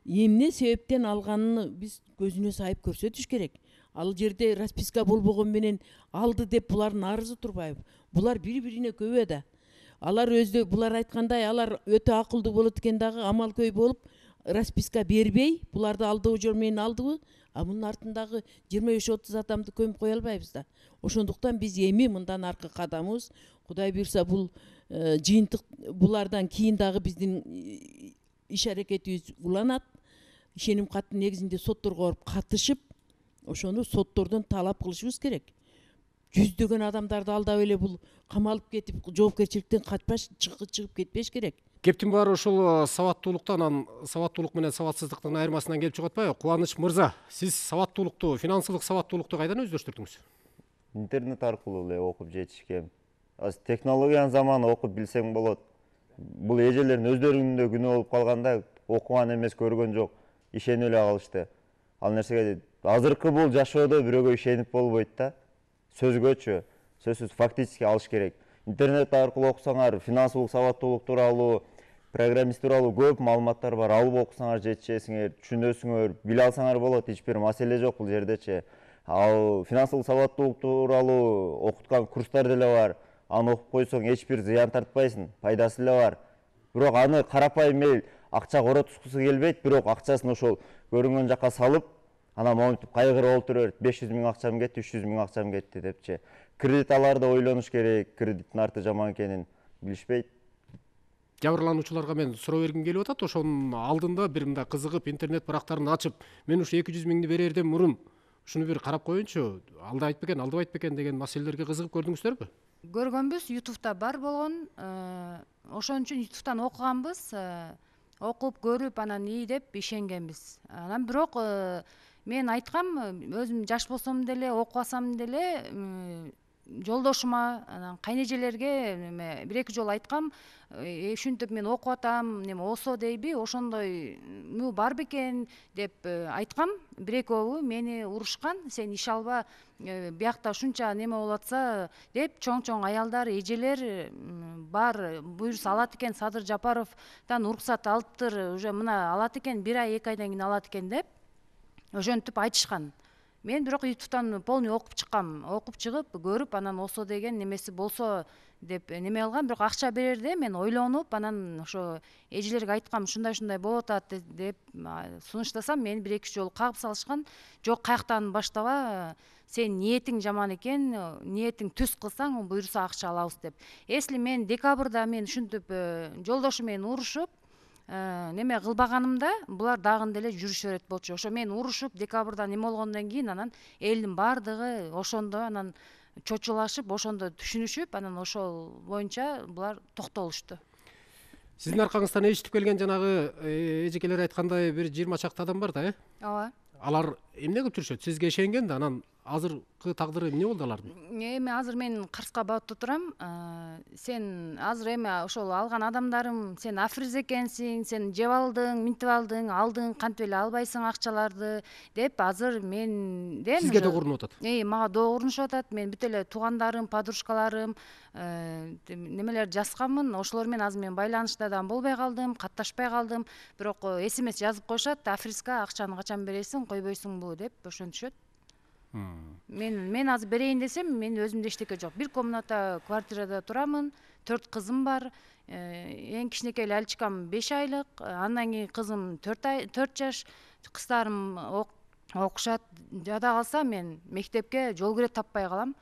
эмне себептен алганын биз көзүнө сайып көрсөтүш керек. Ал жерде расписка болбогон менен алды деп булардын арызы турбайбы? Булар бири-бирине көбө да. Алар өзү булар айткандай, алар өтө акылдуу болот экен дагы, амал көй болуп расписка бербей, буларды алдоо жол менен алдыбы? А мунун артындагы 25-30 адамды көмүп кое албайбыз да. Ошондуктан биз эми мындан аркы кадамыбыз, Кудай буйрса, бул жыйынтык булардан кийин дагы биздин иш аракетибиз уланат. Ишеним каттын негизинде сотторго барып катышып, ошону соттордон талап кылышыбыз керек. 100дөгөн адамдарды алдап эле бул камалып кетип, жоопкерчиликтен качпаш, чыгып кетпеш керек. Кептин баары ушул сабаттуулуктан, анан сабаттуулук менен сабатсыздыктын айырмасынан келип чыгып атпайбы? Кубаныч мырза, сиз сабаттуулукту, финансылык сабаттуулукту кайдан өздөштүрдүңүз? Интернет аркылуу эле окуп жетишкем. Технологиянын заманы окуп билсең болот. Бул эжелердин өздөрүнүн да күнөө болуп калганда, окуган эмес, көргөн жок, ишенип эле калышты. Ал нерсеге азыркы бул жашоодо бирөөгө ишенип болбойт да. Сөзгөчү, сөзсүз фактически алыш керек. Интернет аркылуу окусаңар, финансылык сабаттуулук тууралуу, программист тууралуу көп маалыматтар бар. Алып окусаңар жетишесиңер, түшүнөсүңөр, биле алсаңар болот, эч бир маселе жок бул жердечи. Ал финансылык сабаттуулук тууралуу окуткан курстар деле бар. Аны окуп койсоң эч бир зыян тартпайсың, пайдасы эле бар. Бирок аны карапайым эл акча коротускусу келбейт, бирок акчасын ошол көрүнгөн жака салып, анан монтип кайгырып отуруп, 500 000 акчам кетти, 300 000 акчам кетти депчи. Кредит аларда ойлонуш керек, кредиттин арты жаман экенин билишпейт. Жабырлануучуларга мен суроо бергим келип атат. Ошонун алдында бир мындай кызыгып интернет барактарын ачып, мен ушу 200 000 берерден мурун ушуну бир карап коеюнчу, алдайт бекен, алдабайт бекен деген маселелерге кызыгып көрдүңүздөрбү? Көргөнбүз, YouTube'да бар болгон. Ошон үчүн YouTube'дан окуганбыз, окуп көрүп анан ии деп ишенгенбиз. Анан бирок мен айткам, өзүм жаш болсом деле, окубасам деле жолдошума анан кайнежелерге эме 1-2 жолу айткам, ушинтип мен окуп атам, неме ОСО дейби, ошондой бар бекен деп айткам. 1-экөөбү мени урушкан, сен иш алба, биякта ушунча неме болуп атса деп, чоң аялдар, эжелер бар буюрса алат экен, Садыр Жапаровдон уруксат алыптыр, уже мына алат экен, 1 ай 2 айдан кийин алат экен деп ошентип айтышкан. Мен бирок ютубтан полный окуп чыккам, окуп чыгып көрүп, анан ОСО деген немеси болсо деп неме алгам. Бирок акча берерде мен ойлонуп, анан ошо эжелерге айткам, ушундай болуп атат деп сунуштасам, мени 1-2 жолу кагып салышкан. Жок, каяктан баштаба, сен ниетиң жаман экен, ниетиң түз кылсаң, буюрса акча алабыз деп. Если мен декабрда мен ушинтип жолдошу менен урушуп неме кылбаганымда, булар дагы деле жүрүшө берет болчу. Ошо мен урушуп декабрда неме болгондон кийин анан элдин баардыгы ошондо анан чочулашып, ошондо түшүнүшүп, анан ошол боюнча булар токтолушту. Сиздин аркаңыздан эшитип келген жанагы эжекелер айткандай бир 20 чакты адам бар да, Ооба. Алар эмне кылып жүрүшөт? Сизге ишенген да, анан азыркы тагдыры эмне болду алардын? Эми азыр мен Карска Баатта турам. Сен азыр эми ошол алган адамдарым, сен африз экенсиң, сен жеп алдың, минтип алдың, кантип эле албайсың акчаларды деп азыр менден Сизге да урунуп атат. Мага да урунушуп атат. Мен бүт эле туугандарым, подружкаларым немелер жазганмын. Ошолор менен азыр мен байланышта да болбой калдым, катташпай калдым. Бирок СМС жазып коюшат, афризга акчаны качан бересиң, койбойсуңбу деп ошентишет. Мен азыр берейин десем, мен өзүмдө эчтеке жок. Бир комната квартирада турамын, 4 кызым бар. Эң кичинекей Алчикам 5 айлык, андан кийин кызым 4 жаш, кыздарым окушат. Жада калса мен мектепке жол кире таппай калам.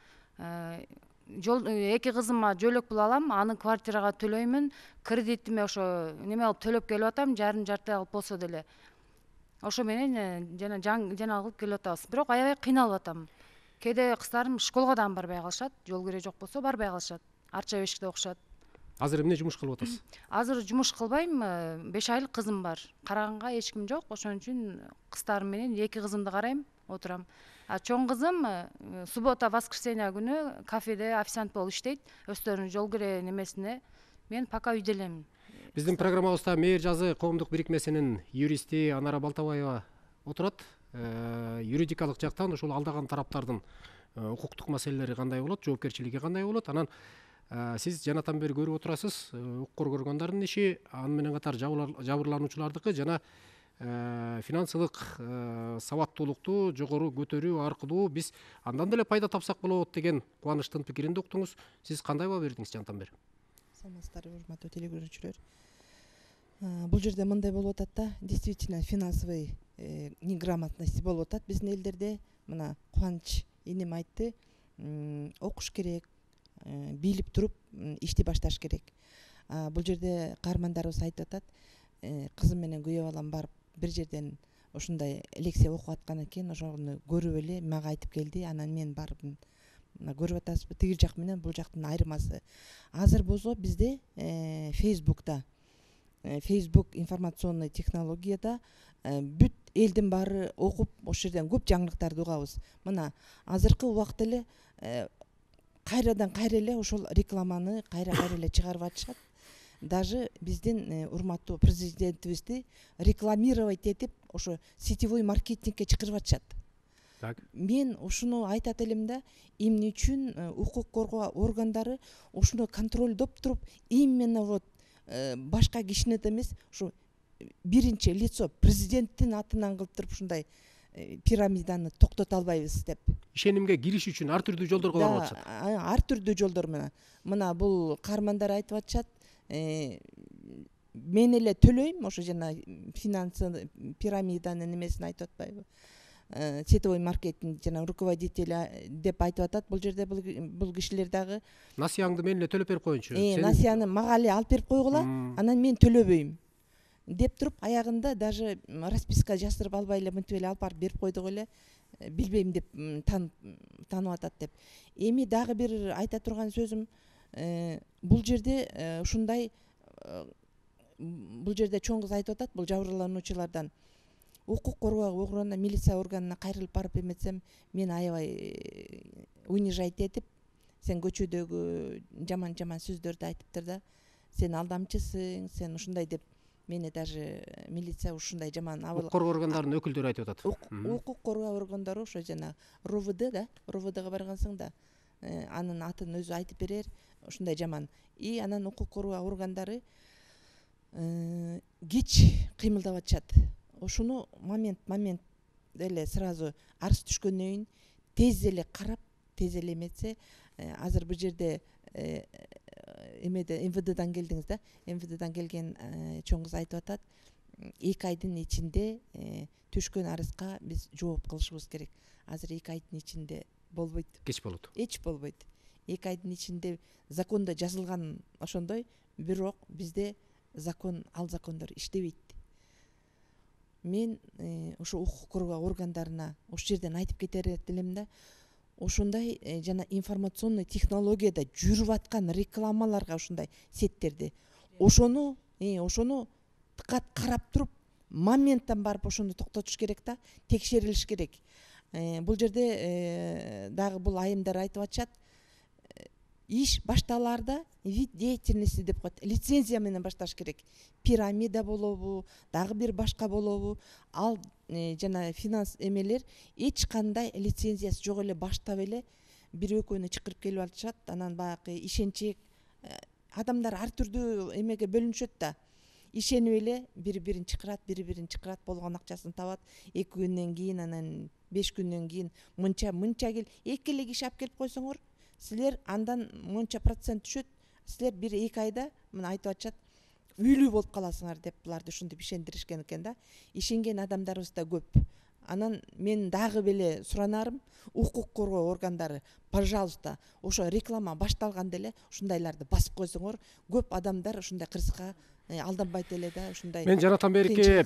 2 кызыма жөлөк пул алам, аны квартирага төлөймүн. Кредитиме ошо неме кылып төлөп келип атам, жарым-жарты кылып болсо деле. Ошо менен жана кылып келип атабыз. Бирок аябай кыйналып атам. Кээде кыздарым школго дагы барбай калышат, жол кире жок болсо барбай калышат. Арча бешикте окушат. Азыр эмне жумуш кылып атасыз? Азыр жумуш кылбайм, 5 айлык кызым бар. Караганга эч ким жок, ошон үчүн кыздарым менен 2 кызымды карайм, отурам. Чоң кызым суббота, воскресенье күнү кафеде официант болуп иштейт, өздөрүнүн жол кире немесине. Мен пока үйдө элем. Биздин программабызда Мээр жазы коомдук бирикмесинин юристи Анара Балтабаева отурат. Юридикалык жактан ошол алдаган тараптардын укуктук маселелери кандай болот, жоопкерчилиги кандай болот? Анан сиз жанатан бери көрүп отурасыз, укук коргонгондордун иши, аны менен катар жабырлануучулардыкы жана финансылык сабаттуулукту жогору көтөрүү аркылуу биз андан деле пайда тапсак болот деген кубанычтын пикиринде уктуңуз. Сиз кандай баа бердиңиз жанатан бери? Саламатсыздарбы, урматтуу телекөрүүчүлөр. Бул жерде мындай болуп атат да, действительно финансовый неграмотность болуп атат биздин элдерде. Мына Кубаныч энем айтты, окуш керек, билип туруп ишти башташ керек. Бул жерде каармандарыбыз айтып атат, кызым менен күйөө балам барып бир жерден ушундай лекция окуп аткан экен, ошону көрүп эле мага айтып келди, анан мен барып көрүп атасызбы, тигил жак менен бул жактын айырмасы. Азыр болсо бизде Facebook'та, Facebook информационный технологияда бүт элдин баары окуп, ошол жерден көп жаңылыктарды угабыз. Мына азыркы убакта эле кайрадан кайра эле ошол рекламаны кайра эле чыгарып атышат. Даже биздин урматтуу президентибизди рекламировать этип, ошо сетевой маркетингке чакырып атышат. Мен ушуну айтат элем да, эмне үчүн укук коргоо органдары ушуну контролдоп туруп, именно вот башка кишини эмес, ушу биринчи лицо президенттин атынан кылып туруп ушундай пирамиданы токтото албайбыз деп. Ишенимге кириш үчүн ар түрдүү жолдорго барып атышат. Ар түрдүү жолдор менен. Мына бул каармандар айтып атышат, мен эле төлөйм, ошо жана финансы пирамиданын немесин айтып атпайбы? Сетевой маркетинг жана руководители деп айтып атат. Бул жерде бул кишилер дагы насыяңды мен эле төлөп берип коеюнчу. Насыяны мага эле алып берип койгула, анан мен төлөбөйм деп туруп, аягында даже расписка жаздырып албай эле мынтип эле алып барып берип койдук эле, билбейм деп танып атат деп. Эми дагы бир айта турган сөзүм, бул жерде ушундай, бул жерде чоң кыз айтып атат, бул жабырлануучулардан укук коргоо органына, милиция органына кайрылып барып эметсем, мен аябай унижать этип, сен көчөдөгү жаман сөздөрдү айтыптыр да, сен алдамчысың, сен ушундай деп мени даже милиция ушундай жаман укук коргоо органдарынын өкүлдөрү айтып атат. Укук коргоо органдары ошо жана РОВД да, РОВДга баргансаң да анын атын өзү айтып берер, ушундай жаман. И анан укук коргоо органдары кеч кыймылдап атышат. Ошону момент эле сразу арыз түшкөндөн кийин тез эле карап, тез эле эметсе, азыр бул жерде эмеде МВДдан келдиңиз да, МВДдан келген чоң кыз айтып атат, 2 айдын ичинде түшкөн арызга биз жооп кылышыбыз керек. Азыр 2 айдын ичинде болбойт. Кеч болот. Эч болбойт. 2 айдын ичинде закондо жазылган ошондой, бирок бизде ал закондор иштебейт. Мен ошо укук коргоо органдарына ошол жерден айтып кетер элем да, ошондой жана информационный технологияда жүрүп аткан рекламаларга ушундай сеттерди ошону дыкат карап туруп моменттан барып ошону токтотуш керек да, текшерилиш керек. Бул жерде дагы бул айымдар айтып атышат, иш башталаарда вид деятельности деп коет, лицензия менен башташ керек. Пирамида болобу, дагы бир башка болобу, ал жана финанс эмелер эч кандай лицензиясы жок эле баштап эле бир экөөнү чакырып келип атышат. Анан баягы ишенчек адамдар ар түрдүү эмеге бөлүнүшөт да, ишенип эле бири-бирин чакырат, болгон акчасын табат. 2 күндөн кийин, анан 5 күндөн кийин мынча кел, 2 эле киши алып келип койсоңор, силер андан мынча процент түшөт, силер 1-2 айда мына айтып атышат, үйлүү болуп каласыңар деп буларды ушинтип ишендиришкен экен да. Ишенген адамдарыбыз да көп. Анан мен дагы беле суранарым, укук коргоо органдары, пожалуйста, ошо реклама башталганда эле ушундайларды басып койсоңор, көп адамдар ушундай кырсыкка алданбайт эле да, ушундай. Мен жанатан берки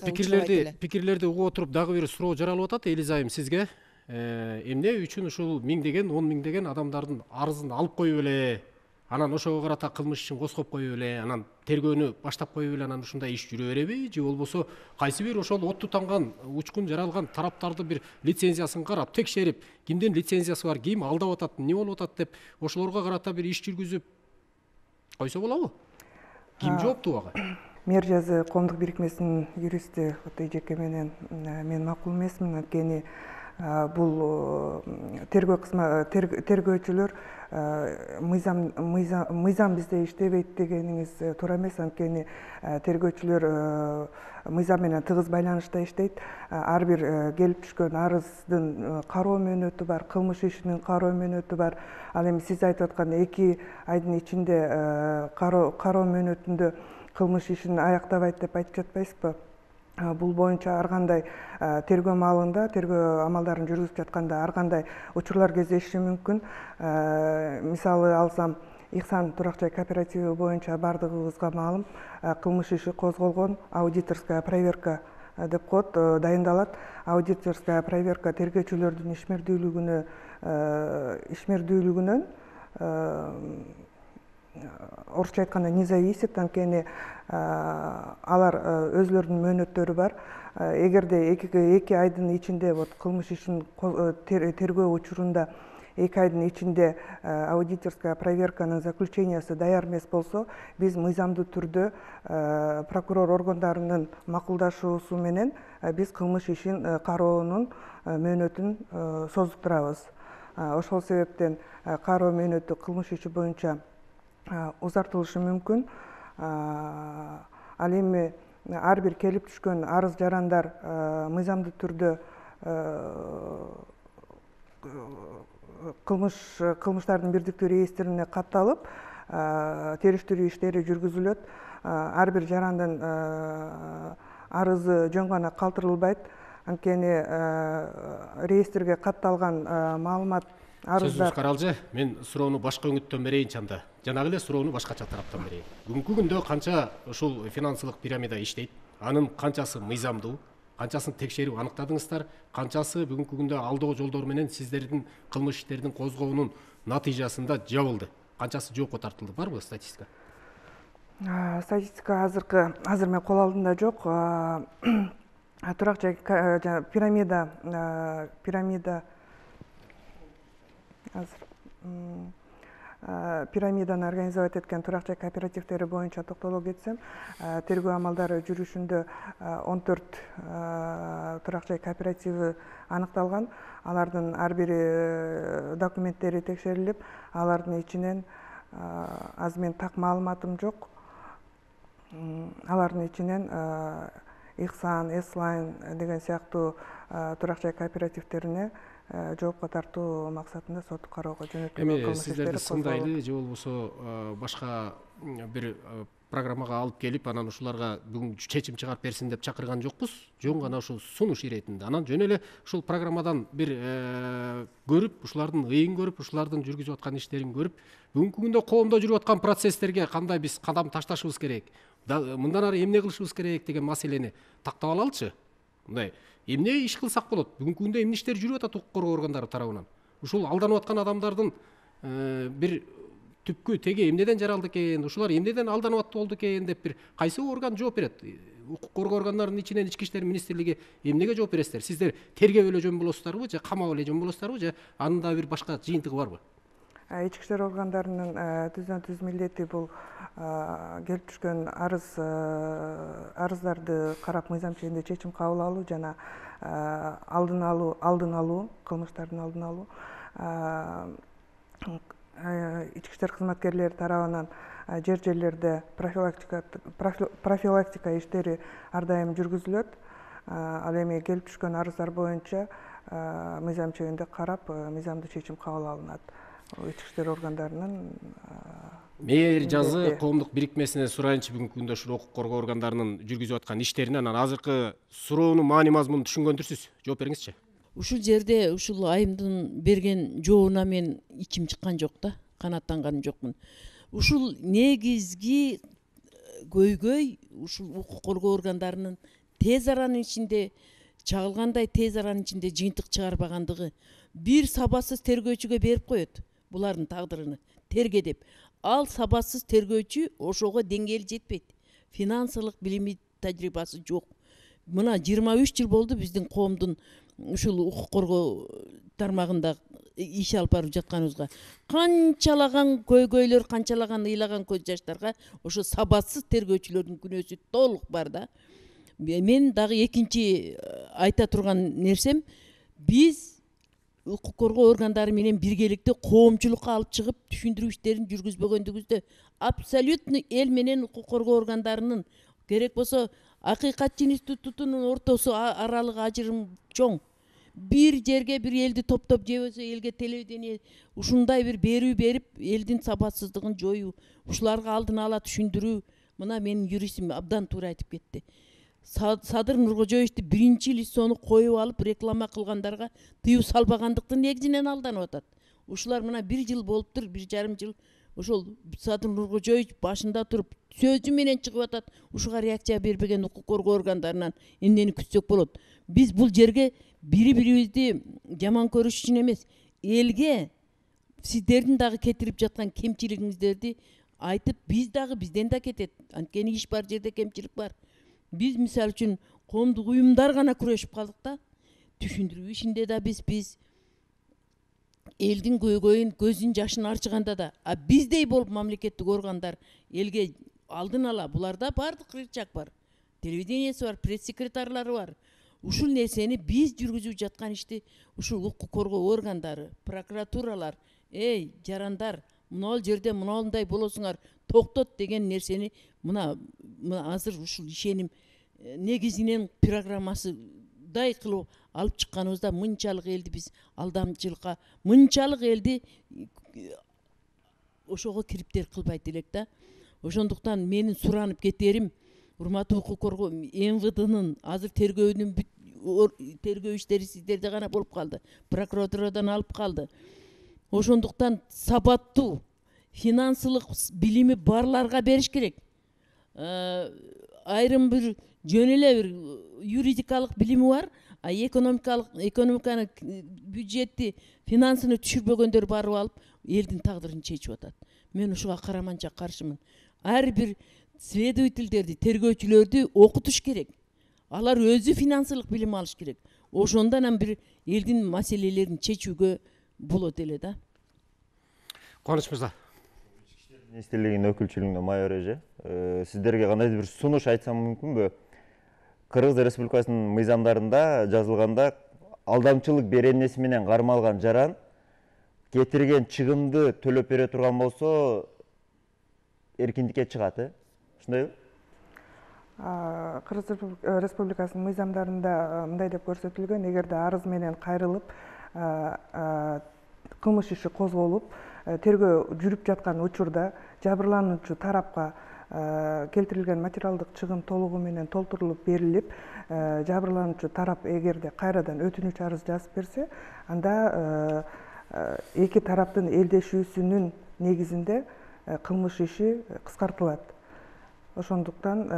пикирлерди угуп отуруп дагы бир суроо жаралып атат Элиза айым сизге. Эмне үчүн ушул миңдеген, 10 миңдеген адамдардын арызын алып коюп эле, анан ошого карата кылмыш ишин козгоп коюп эле, анан тергөөнү баштап коюп эле, анан ушундай иш жүрө береби, же болбосо кайсы бир ошол отту танган, учкун жаралган тараптарды бир лицензиясын карап, текшерип, кимдин лицензиясы бар, ким алдап атат, эмне болуп атат деп, ошолорго карата бир иш жүргүзүп койсо болобу? Ким жооптуу ага? Мер жазы коомдук бирикмесинин юристи Эжеке менен мен макул эмесмин, анткени бул тергөөчүлөр мыйзам бизде иштебейт дегениңиз туура эмес, анткени тергөөчүлөр мыйзам менен тыгыз байланышта иштейт. Ар бир келип түшкөн арыздын кароо мөөнөтү бар, кылмыш ишинин кароо мөөнөтү бар. Ал эми сиз айтып аткан 2 айдын ичинде кароо мөөнөтүндө кылмыш ишин аяктабайт деп айтып жатпайсызбы? Бул боюнча ар кандай тергөө маалында, тергөө амалдарын жүргүзүп жатканда ар кандай учурлар кездешиши мүмкүн. Мисалы алсам, Ихсан турак-жай кооперативи боюнча бардыгыбызга маалым, кылмыш иши козголгон, аудиторская проверка деп коет, дайындалат. Аудиторская проверка тергөөчүлөрдүн ишмердүүлүгүнөн орусча айтканда не зависит, анткени алар өзлөрүнүн мөөнөттөрү бар. Эгерде 2 айдын ичинде кылмыш ишин тергөө учурунда 2 айдын ичинде аудиторская проверканын заключениясы даяр эмес болсо, биз мыйзамдуу түрдө прокурор органдарынын макулдашуусу менен биз кылмыш ишин кароонун мөөнөтүн созуктурабыз. Ошол себептен кароо мөөнөтү кылмыш иши боюнча узартылышы мүмкүн. Ал эми ар бир келип түшкөн арыз жарандар мыйзамдуу түрдө кылмыштардын бирдиктүү реестрине катталып, териштирүү иштери жүргүзүлөт. Ар бир жарандын арызы жөн гана калтырылбайт, анткени реестрге катталган маалымат Сөзүңүз каралжы, мен суроону башка өңүттөн берейин чанда. Жанагы эле суроону башкача тараптан берейин. Бүгүнкү күндө канча ушул финансылык пирамида иштейт? Анын канчасы мыйзамдуу? Канчасын текшерип аныктадыңыздар? Канчасы бүгүнкү күндө алдоо жолдор менен сиздердин кылмыш иштердин козгоонун натыйжасында жабылды? Канчасы жоопко тартылды? Барбы статистика? Статистика азыр мен кол алдымда жок. Турак-жай пирамида пирамиданы организовать эткен турак жай кооперативдери боюнча токтоло кетсем, тергөө амалдары жүрүшүндө 14 турак жай кооперативи аныкталган. Алардын ар бири документтери текшерилип, алардын ичинен азыр мен так маалыматым жок. Алардын ичинен Ихсан, Эслайн деген сыяктуу турак жай кооперативдерине жоопко тартуу максатында соттук кароого жөнөтүлгөн кылмыш иштери сиздерди сындайлы же болбосо башка бир программага алып келип, анан ушуларга бүгүн чечим чыгарып берсин деп чакырган жокпуз. Жөн гана ушул сунуш иретинде. Анан жөн эле ушул программадан бир көрүп, ушулардын ыйын көрүп, ушулардын жүргүзүп аткан иштерин көрүп, бүгүнкү күндө коомдо жүрүп аткан процесстерге кандай биз кадам ташташыбыз керек, мындан ары эмне кылышыбыз керек деген маселени тактап алалычы. Мындай эмне иш кылсак болот? Бүгүнкү күндө эмне иштер жүрүп атат укук коргоо органдары тарабынан? Ушул алданып аткан адамдардын бир түпкү теги эмнеден жаралды экен, ушулар эмнеден алданып болду экен деп бир кайсы орган жооп берет? Укук коргоо органдарынын ичинен Ички иштер министрлиги эмнеге жооп бересиздер? Сиздер тергеп эле жөн болосуздарбы же камап эле жөн болосуздарбы же анын да бир башка жыйынтыгы барбы? Ички иштер органдарынын түздөн-түз милдети бул келип түшкөн арыздарды карап мыйзам чегинде чечим кабыл алуу жана алдын алуу, кылмыштардын алдын алуу. Ички иштер кызматкерлери тарабынан жерлерде профилактика иштери ар дайым жүргүзүлөт. Ал эми келип түшкөн арыздар боюнча мыйзам чегинде карап, мыйзамдуу чечим кабыл алынат. Ички иштер органдарынын Мээр жазы коомдук бирикмесинен сурайынчы, бүгүнкү күндө ушул укук коргоо органдарынын жүргүзүп аткан иштеринен анан азыркы суроонун маани мазмунун түшүнгөндүрсүз. Жооп бериңизчи. Ушул жерде ушул айымдын берген жообуна мен ичим чыккан жок да, канааттанганым жокмун. Ушул негизги көйгөй ушул укук коргоо органдарынын тез аранын ичинде чагылгандай тез аранын ичинде жыйынтык чыгарбагандыгы. Бир сабатсыз тергөөчүгө берип коет булардын тагдырын терге деп. Ал сабатсыз тергөөчү ошого деңгээли жетпейт. Финансылык билими, тажрыйбасы жок. Мына 23 жыл болду биздин коомдун ушул укук коргоо тармагында иш алып барып жатканыбызга. Канчалаган көйгөйлөр, канчалаган ыйлаган көз жаштарга ошо сабатсыз тергөөчүлөрдүн күнөөсү толук бар да. Мен дагы экинчи айта турган нерсем, биз укук коргоо органдары менен биргеликте коомчулукка алып чыгып түшүндүрүү иштерин жүргүзбөгөндүгүбүздө абсолютно эл менен укук коргоо органдарынын керек болсо Акыйкатчы институтунун ортосу аралыгы ажырым чоң. Бир жерге бир элди топтоп же болбосо элге телевидение ушундай бир берүү берип, элдин сабатсыздыгын жоюу, ушуларга алдын ала түшүндүрүү. Мына менин юристим абдан туура айтып кетти. Садыр Нуркожоевичти биринчи лицону коюп алып реклама кылгандарга тыюу салбагандыктын негизинен алданып атат. Ушулар мына 1 жыл болуптур, 1,5 жыл ошол Садыр Нуркожоевич башында туруп сөзү менен чыгып атат. Ушуга реакция бербеген укук коргоо органдарынан эмнени күтсөк болот? Биз бул жерге бири-бирибизди жаман көрүш үчүн эмес, элге сиздердин дагы кетирип жаткан кемчилигиңиздерди айтып, биз дагы бизден да кетет. Анткени иш бар жерде кемчилик бар. Биз мисалы үчүн коомдук уюмдар гана күрөшүп калдык да. Түшүндүрүү ишинде да биз элдин көйгөйүн, көзүн жашын арчыганда да, биздей болуп мамлекеттик органдар элге алдын ала, буларда бардык рычаг бар. Телевидениеси бар, пресс-секретарлары бар. Ушул нерсени биз жүргүзүп жаткан ишти ушул укук коргоо органдары, прокуратуралар, жарандар, мына жерде мындай болосуңар, токтот деген нерсени мына азыр ушул ишеним негизинен программасыдай кылып алып чыкканыбызда мынчалык элди биз алдамчылыкка, мынчалык элди ошого кириптер кылбайт элек да. Ошондуктан менин суранып кетерим, урматтуу укук коргоо МВДнын азыр тергөө иштери сиздерде гана болуп калды. Прокуратурадан алып калды. Ошондуктан сабаттуу финансылык билими барларга бериш керек. Айрым бир жөн эле бир юридикалык билими бар, экономиканы, бюджетти, финансыны түшүрбөгөндөр барып алып элдин тагдырын чечип атат. Мен ушуга караманча каршымын. Ар бир следовательдерди, тергөөчүлөрдү окутуш керек. Алар өзү финансылык билим алыш керек. Ошондон бир элдин маселелерин чечүүгө болот эле да. Кубаныч мырза. министрлигинин өкүлчүлүгүнөн майор эже, сиздерге кандайдыр бир сунуш айтсам мүмкүнбү? Кыргыз Республикасынын мыйзамдарында жазылганда алдамчылык беренеси менен кармалган жаран кетирген чыгымды төлөп бере турган болсо эркиндикке чыгат, ошондойбу? Кыргыз Республикасынын мыйзамдарында мындай деп көрсөтүлгөн: эгерде арыз менен кайрылып кылмыш иши козголуп тергөө жүрүп жаткан учурда жабырлануучу тарапка келтирилген материалдык чыгым толугу менен толтурулуп берилип, жабырлануучу тарап эгерде кайрадан өтүнүч арыз жазып берсе, анда эки тараптын элдешүүсүнүн негизинде кылмыш иши кыскартылат. Ошондуктан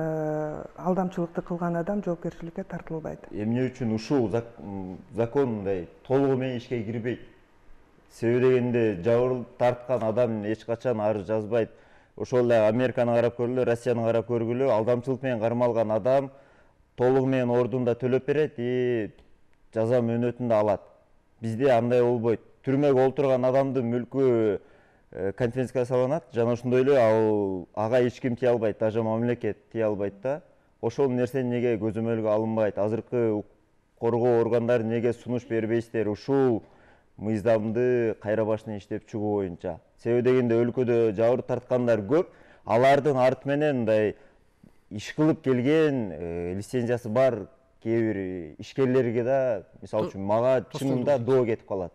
алдамчылыкты кылган адам жоопкерчиликке тартылбайт. Эмне үчүн ушул закон мындай толугу менен ишке кирбейт? Себеби дегенде жабыр тарткан адам эч качан арыз жазбайт. Ошол эле Американы карап көргүлө, Россияны карап көргүлө, алдамчылык менен кармалган адам толугу менен ордунда төлөп берет и жаза мөөнөтүн да алат. Бизде андай болбойт. Түрмөгө олтурган адамдын мүлкү конфискацияланат, жана ошондой эле ага эч ким тие албайт, даже мамлекет тие албайт да. Ошол нерсе неге көзөмөлгө алынбайт? Азыркы коргоо органдары неге сунуш бербейсиздер ушул мыйзамды кайра башынан иштеп чыгуу боюнча? Себеби дегенде өлкөдө жабыр тарткандар көп, алардын арты менен мындай иш кылып келген лицензиясы бар кээ бир ишкерлерге да, мисалы үчүн мага чынында доо кетип калат.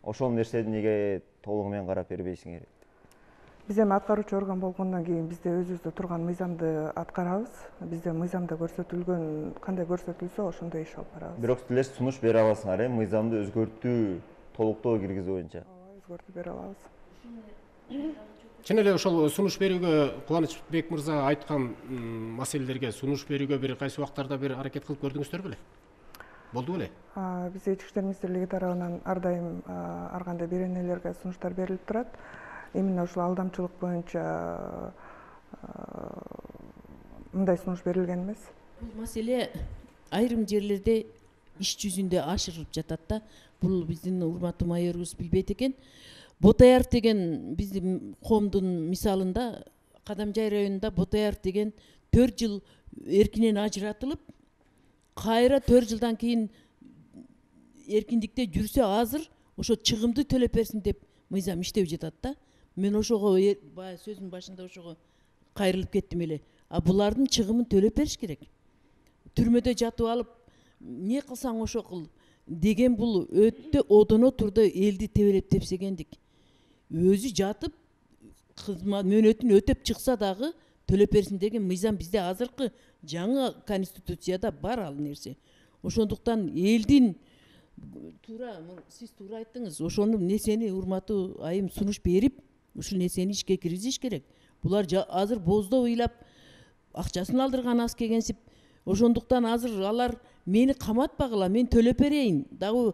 Ошол нерсени неге толугу менен карап бербейсиңер? Биз эми аткаруучу орган болгондон кийин бизде өзүбүздө турган мыйзамды аткарабыз. Бизде мыйзамда көрсөтүлгөн, кандай көрсөтүлсө ошондой иш алып барабыз. Бирок силер сунуш бере аласыңар, мыйзамды өзгөртүү, толуктоо киргизүү боюнча? Өзгөртүп бере алабыз. Чын эле ошол сунуш берүүгө Кубанычбек мырза айткан маселелерге сунуш берүүгө бир кайсы убактарда бир аракет кылып көрдүңүздөр беле? Болду беле? Бизде Ички иштер министрлиги тарабынан ар дайым ар кандай беренелерге сунуштар берилип турат. Именно ушул алдамчылык боюнча мындай сунуш берилген эмес. Бул маселе айрым жерлерде иш жүзүндө ашырылып жатат да. Бул биздин урматтуу майорубуз билбейт экен. Ботаяров деген биздин коомдун мисалында Кадамжай районунда Ботаяров деген 4 жыл эркинен ажыратылып, кайра 4 жылдан кийин эркиндикте жүрсө азыр ошо чыгымды төлөп берсин деп мыйзам иштеп жатат да. Мен ошого баягы сөзүмдүн башында ошого кайрылып кеттим эле. Булардын чыгымын төлөп бериш керек. Түрмөдө жатып алып, не кылсаң ошо кыл деген бул өтө одоно турда элди тебелеп тепсегендик. Өзү жатып кызмат мөөнөтүн өтөп чыкса дагы төлөп берсин деген мыйзам бизде азыркы жаңы конституцияда бар ал нерсе. Ошондуктан элдин сиз туура айттыңыз. Ошону нерсени урматтуу айым сунуш берип, ушул нерсени ишке киргизиш керек. Булар азыр боздоо ыйлап акчасын алдырган аз кегенсип. Ошондуктан азыр алар мени каматпагыла, мен төлөп берейин. Дагы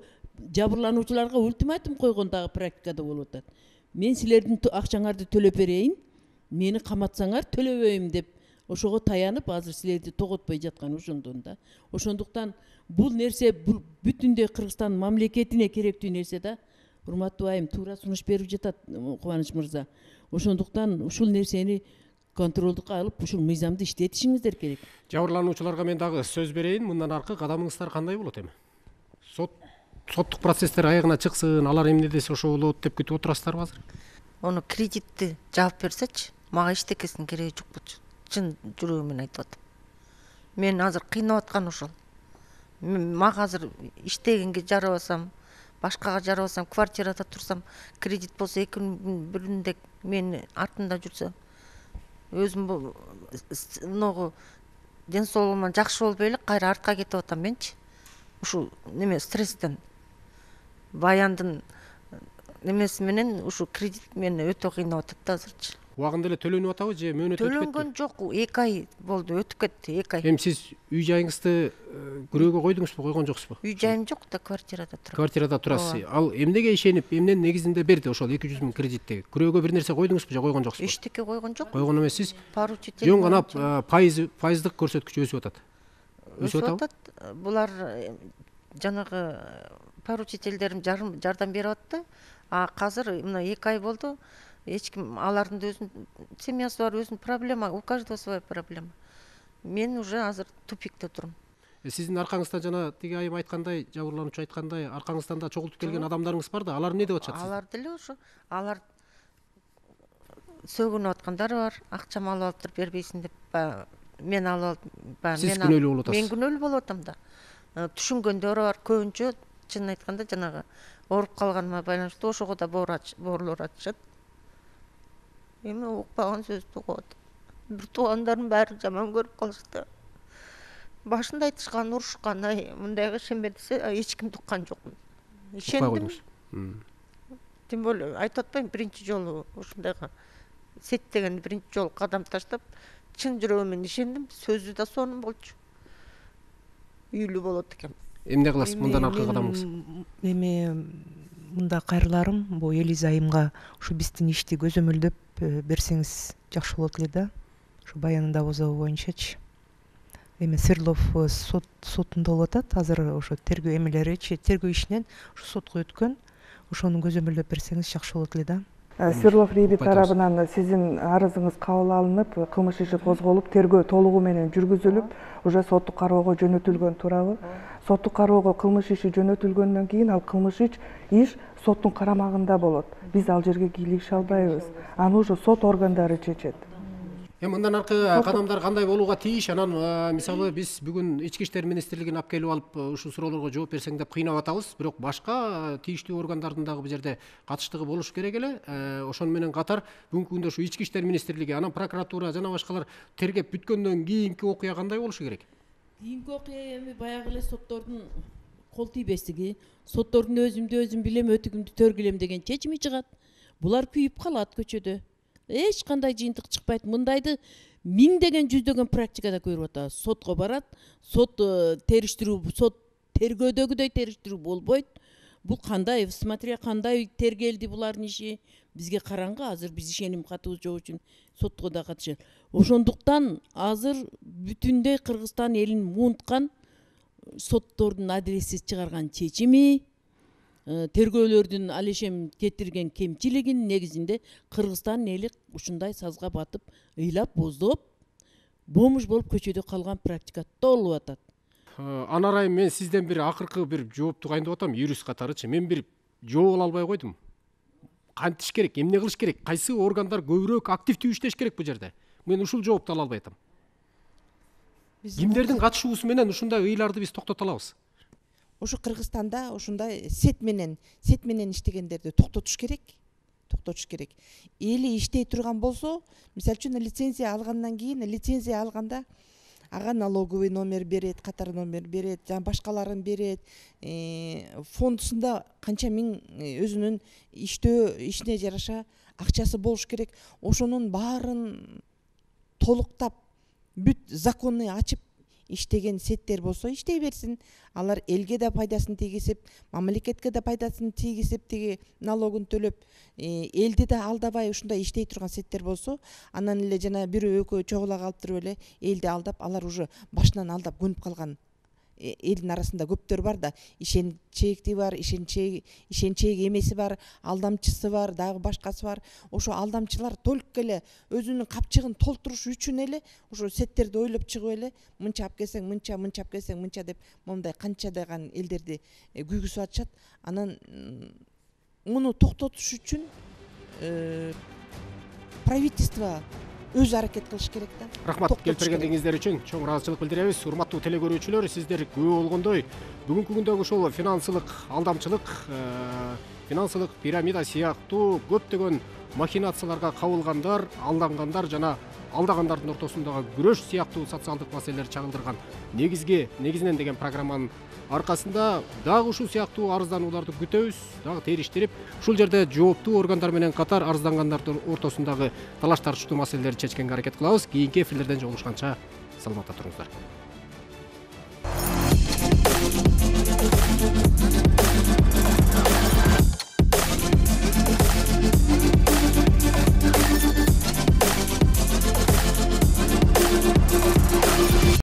жабырлануучуларга ультиматум койгон дагы практикада болуп атат. Мен силердин акчаңарды төлөп берейин, мени каматсаңар төлөбөйм деп ошого таянып азыр силерди тоготпой жаткан ошондон да. Ошондуктан бул нерсе бүтүндөй Кыргызстан мамлекетине керектүү нерсе да. Урматтуу айым туура сунуш берип жатат Кубаныч мырза. Ошондуктан ушул нерсени контролдукка алып, ушул мыйзамды иштетишиңиздер керек. Жабырлануучуларга мен дагы сөз берейин. Мындан аркы кадамыңыздар кандай болот эми? Соттук процесстер аягына чыксын, алар эмне десе ошо болот деп күтүп отурасыздарбы азыр? Ону кредитти жаап берсечи, мага эчтекесинин кереги жок болчу. Чын жүрөгүм менен айтып атам. Мен азыр кыйнап аткан ошол. Мага азыр иштегенге жарабасам, башкага жарабасам, квартирада турсам, кредит болсо экинин биринде мен артымда жүрсө, өзүм ногу ден соолугуман жакшы болбой эле кайра артка кетип атам менчи. Ушул неме стресстен, баяндын немеси менен ушул кредит мени өтө кыйнап атат да азырчы. Убагында эле төлөнүп атабы же мөөнөт өтүп кетти? Төлөнгөн жок, 2 ай болду, өтүп кетти, 2 ай. Эми сиз үй жайыңызды күрөөгө койдуңузбу, койгон жоксузбу? Үй жайым жок да, квартирада турам. Квартирада турасыз. Ал эмнеге ишенип, эмненин негизинде берди ошол 200 000 кредитти? Күрөөгө бир нерсе койдуңузбу же койгон жоксузбу? Эчтеке койгон жок. Койгон эмессиз. Поручитель. Жөн гана пайыздык көрсөткүч өсүп атат. Өсүп атат. Булар жанагы поручительдерим жардам берип атты. Азыр мына 2 ай болду. эч ким, алардын да өзүнүн семьясы бар, өзүнүн проблема, у каждого своя проблема. Мен уже азыр тупикте турум. Сиздин аркаңыздан жана тиги айым айткандай, жабырлануучу айткандай, аркаңыздан да чогултуп келген адамдарыңыз бар да, алар эмне деп атышат? Алар деле ошо, алар сөгүнүп аткандары бар, акчам алып алыптыр, бербейсиң деп, мен алып алып, Сиз күнөөлүү болуп атасыз. Мен күнөөлүү болуп атам да. Түшүнгөндөр бар, көбүнчө чынын айтканда жанагы ооруп калганыма байланыштуу ошого да боорлор атышат. Эми укпаган сөздү угуп атам. Бир туугандарым баары жаман көрүп калышты. Башында айтышкан, урушкан, мындайга ишенбе десе, эч кимди уккан жокмун. Ишендим. Тем более айтып атпайм, биринчи жолу ушундайга сеттеген биринчи жолу кадам таштап, чын жүрөгүм менен ишендим. Сөзү да сонун болчу. Үйлүү болот экен. Эмне кыласыз мындан аркы кадамыңыз? Эми мында кайрыларым бул Элиза айымга ушу биздин ишти көзөмөлдөп берсеңиз жакшы болот эле да. Ушу баянында бозобу боюнчачы. Эми Свердлов сотунда болуп атат. Азыр ошо тергөө эмелеричи, тергөө ишинен ушу сотко өткөн. Ошону көзөмөлдөп берсеңиз жакшы болот эле да. Свердлов РИБ тарабынан сиздин арызыңыз кабыл алынып, кылмыш иши козголуп, тергөө толугу менен жүргүзүлүп, уже соттук кароого жөнөтүлгөн, туурабы? Соттук кароого кылмыш иши жөнөтүлгөндөн кийин ал кылмыш иш соттун карамагында болот. Биз ал жерге кийлигише албайбыз. Аны уже сот органдары чечет. Мындан аркы кадамдар кандай болууга тийиш? Анан мисалы биз бүгүн Ички иштер министрлигин алып келип алып ушул суроолорго жооп берсең деп кыйнап атабыз. Бирок башка тийиштүү органдардын дагы бул жерде катыштыгы болуш керек эле. Ошону менен катар бүгүнкү күндө ушу Ички иштер министрлиги, анан прокуратура жана башкалар тергеп бүткөндөн кийинки окуя кандай болушу керек? Кийинки окуя эми баягы эле соттордун кол тийбестиги, соттордун өзүмдү өзүм билем, өтүгүмдү төргүлем деген чечими чыгат. Булар күйүп калат көчөдө. Эч кандай жыйынтык чыкпайт. Мындайды миңдеген жүздөгөн практикада көрүп атабыз. Сотко барат, сот териштирүү, сот тергөөдөгүдөй териштирүү болбойт. Бул кандай, смотря кандай тергелди булардын иши, бизге караңгы. Азыр биз ишеним катыбыз жок үчүн сотко да катышат. Ошондуктан азыр бүтүндөй Кыргызстан элин муунткан соттордун адилетсиз чыгарган чечими, тергөөлөрдүн ал ишем кетирген кемчилигин негизинде Кыргызстан эли ушундай сазга батып, ыйлап, боздоп, бомуш болуп көчөдө калган практика толуп атат. Анар айым, мен сизден бир акыркы бир жоопту кайындап атам, юрист катарычы. Мен бир жооп ала албай койдум. Кантиш керек, эмне кылыш керек, кайсы органдар көбүрөөк активдүү иштеш керек бул жерде? Мен ушул жоопту ала албай атам. Кимдердин катышуусу менен ушундай ыйларды биз токтото алабыз? Ошо Кыргызстанда ушундай сет менен иштегендерди токтотуш керек. Эли иштей турган болсо, мисалы үчүн лицензия алгандан кийин, лицензия алганда ага налоговый номер берет, катар номер берет, жана башкаларын берет. Фондусунда канча миң өзүнүн ишине жараша акчасы болуш керек. Ошонун баарын толуктап, бүт законы ачып иштеген сеттер болсо иштей берсин. Алар элге да пайдасын тийгизип, мамлекетке да пайдасын тийгизип, тиги налогун төлөп, элди да алдабай ушундай иштей турган сеттер болсо, анан эле жана бирөө экөө чогула калып туруп эле элди алдап, алар уже башынан алдап көнүп калган элдин арасында көптөр бар да, ишенчээкти бар, ишенчээк эмеси бар, алдамчысы бар, дагы башкасы бар. Ошо алдамчылар только эле өзүнүн капчыгын толтуруш үчүн эле ошо сеттерди ойлоп чыгып эле мынча алып келсең мынча, мынча алып келсең мынча деп мондай канчадаган элдерди күйгүзүп атышат. Анан муну токтотуш үчүн правительство өз аракет кылыш керек да. Рахмат, келип бергендигиңиздер үчүн чоң ыраазычылык билдиребиз. Урматтуу телекөрүүчүлөр, сиздер күбө болгондой, бүгүнкү күндөгү ушул финансылык алдамчылык, финансылык пирамида сыяктуу көптөгөн махинацияларга кабылгандар, алдангандар жана алдагандардын ортосундагы күрөш сыяктуу социалдык маселелер чагылдырган негизинен деген программанын аркасында дагы ушул сыяктуу арызданууларды күтөбүз, дагы териштирип, ушул жерде жооптуу органдар менен катар арыздангандардын ортосундагы талаш тартыштуу маселелерди чечкенге аракет кылабыз. Кийинки эфирлерден жолугушканча саламатта туруңуздар.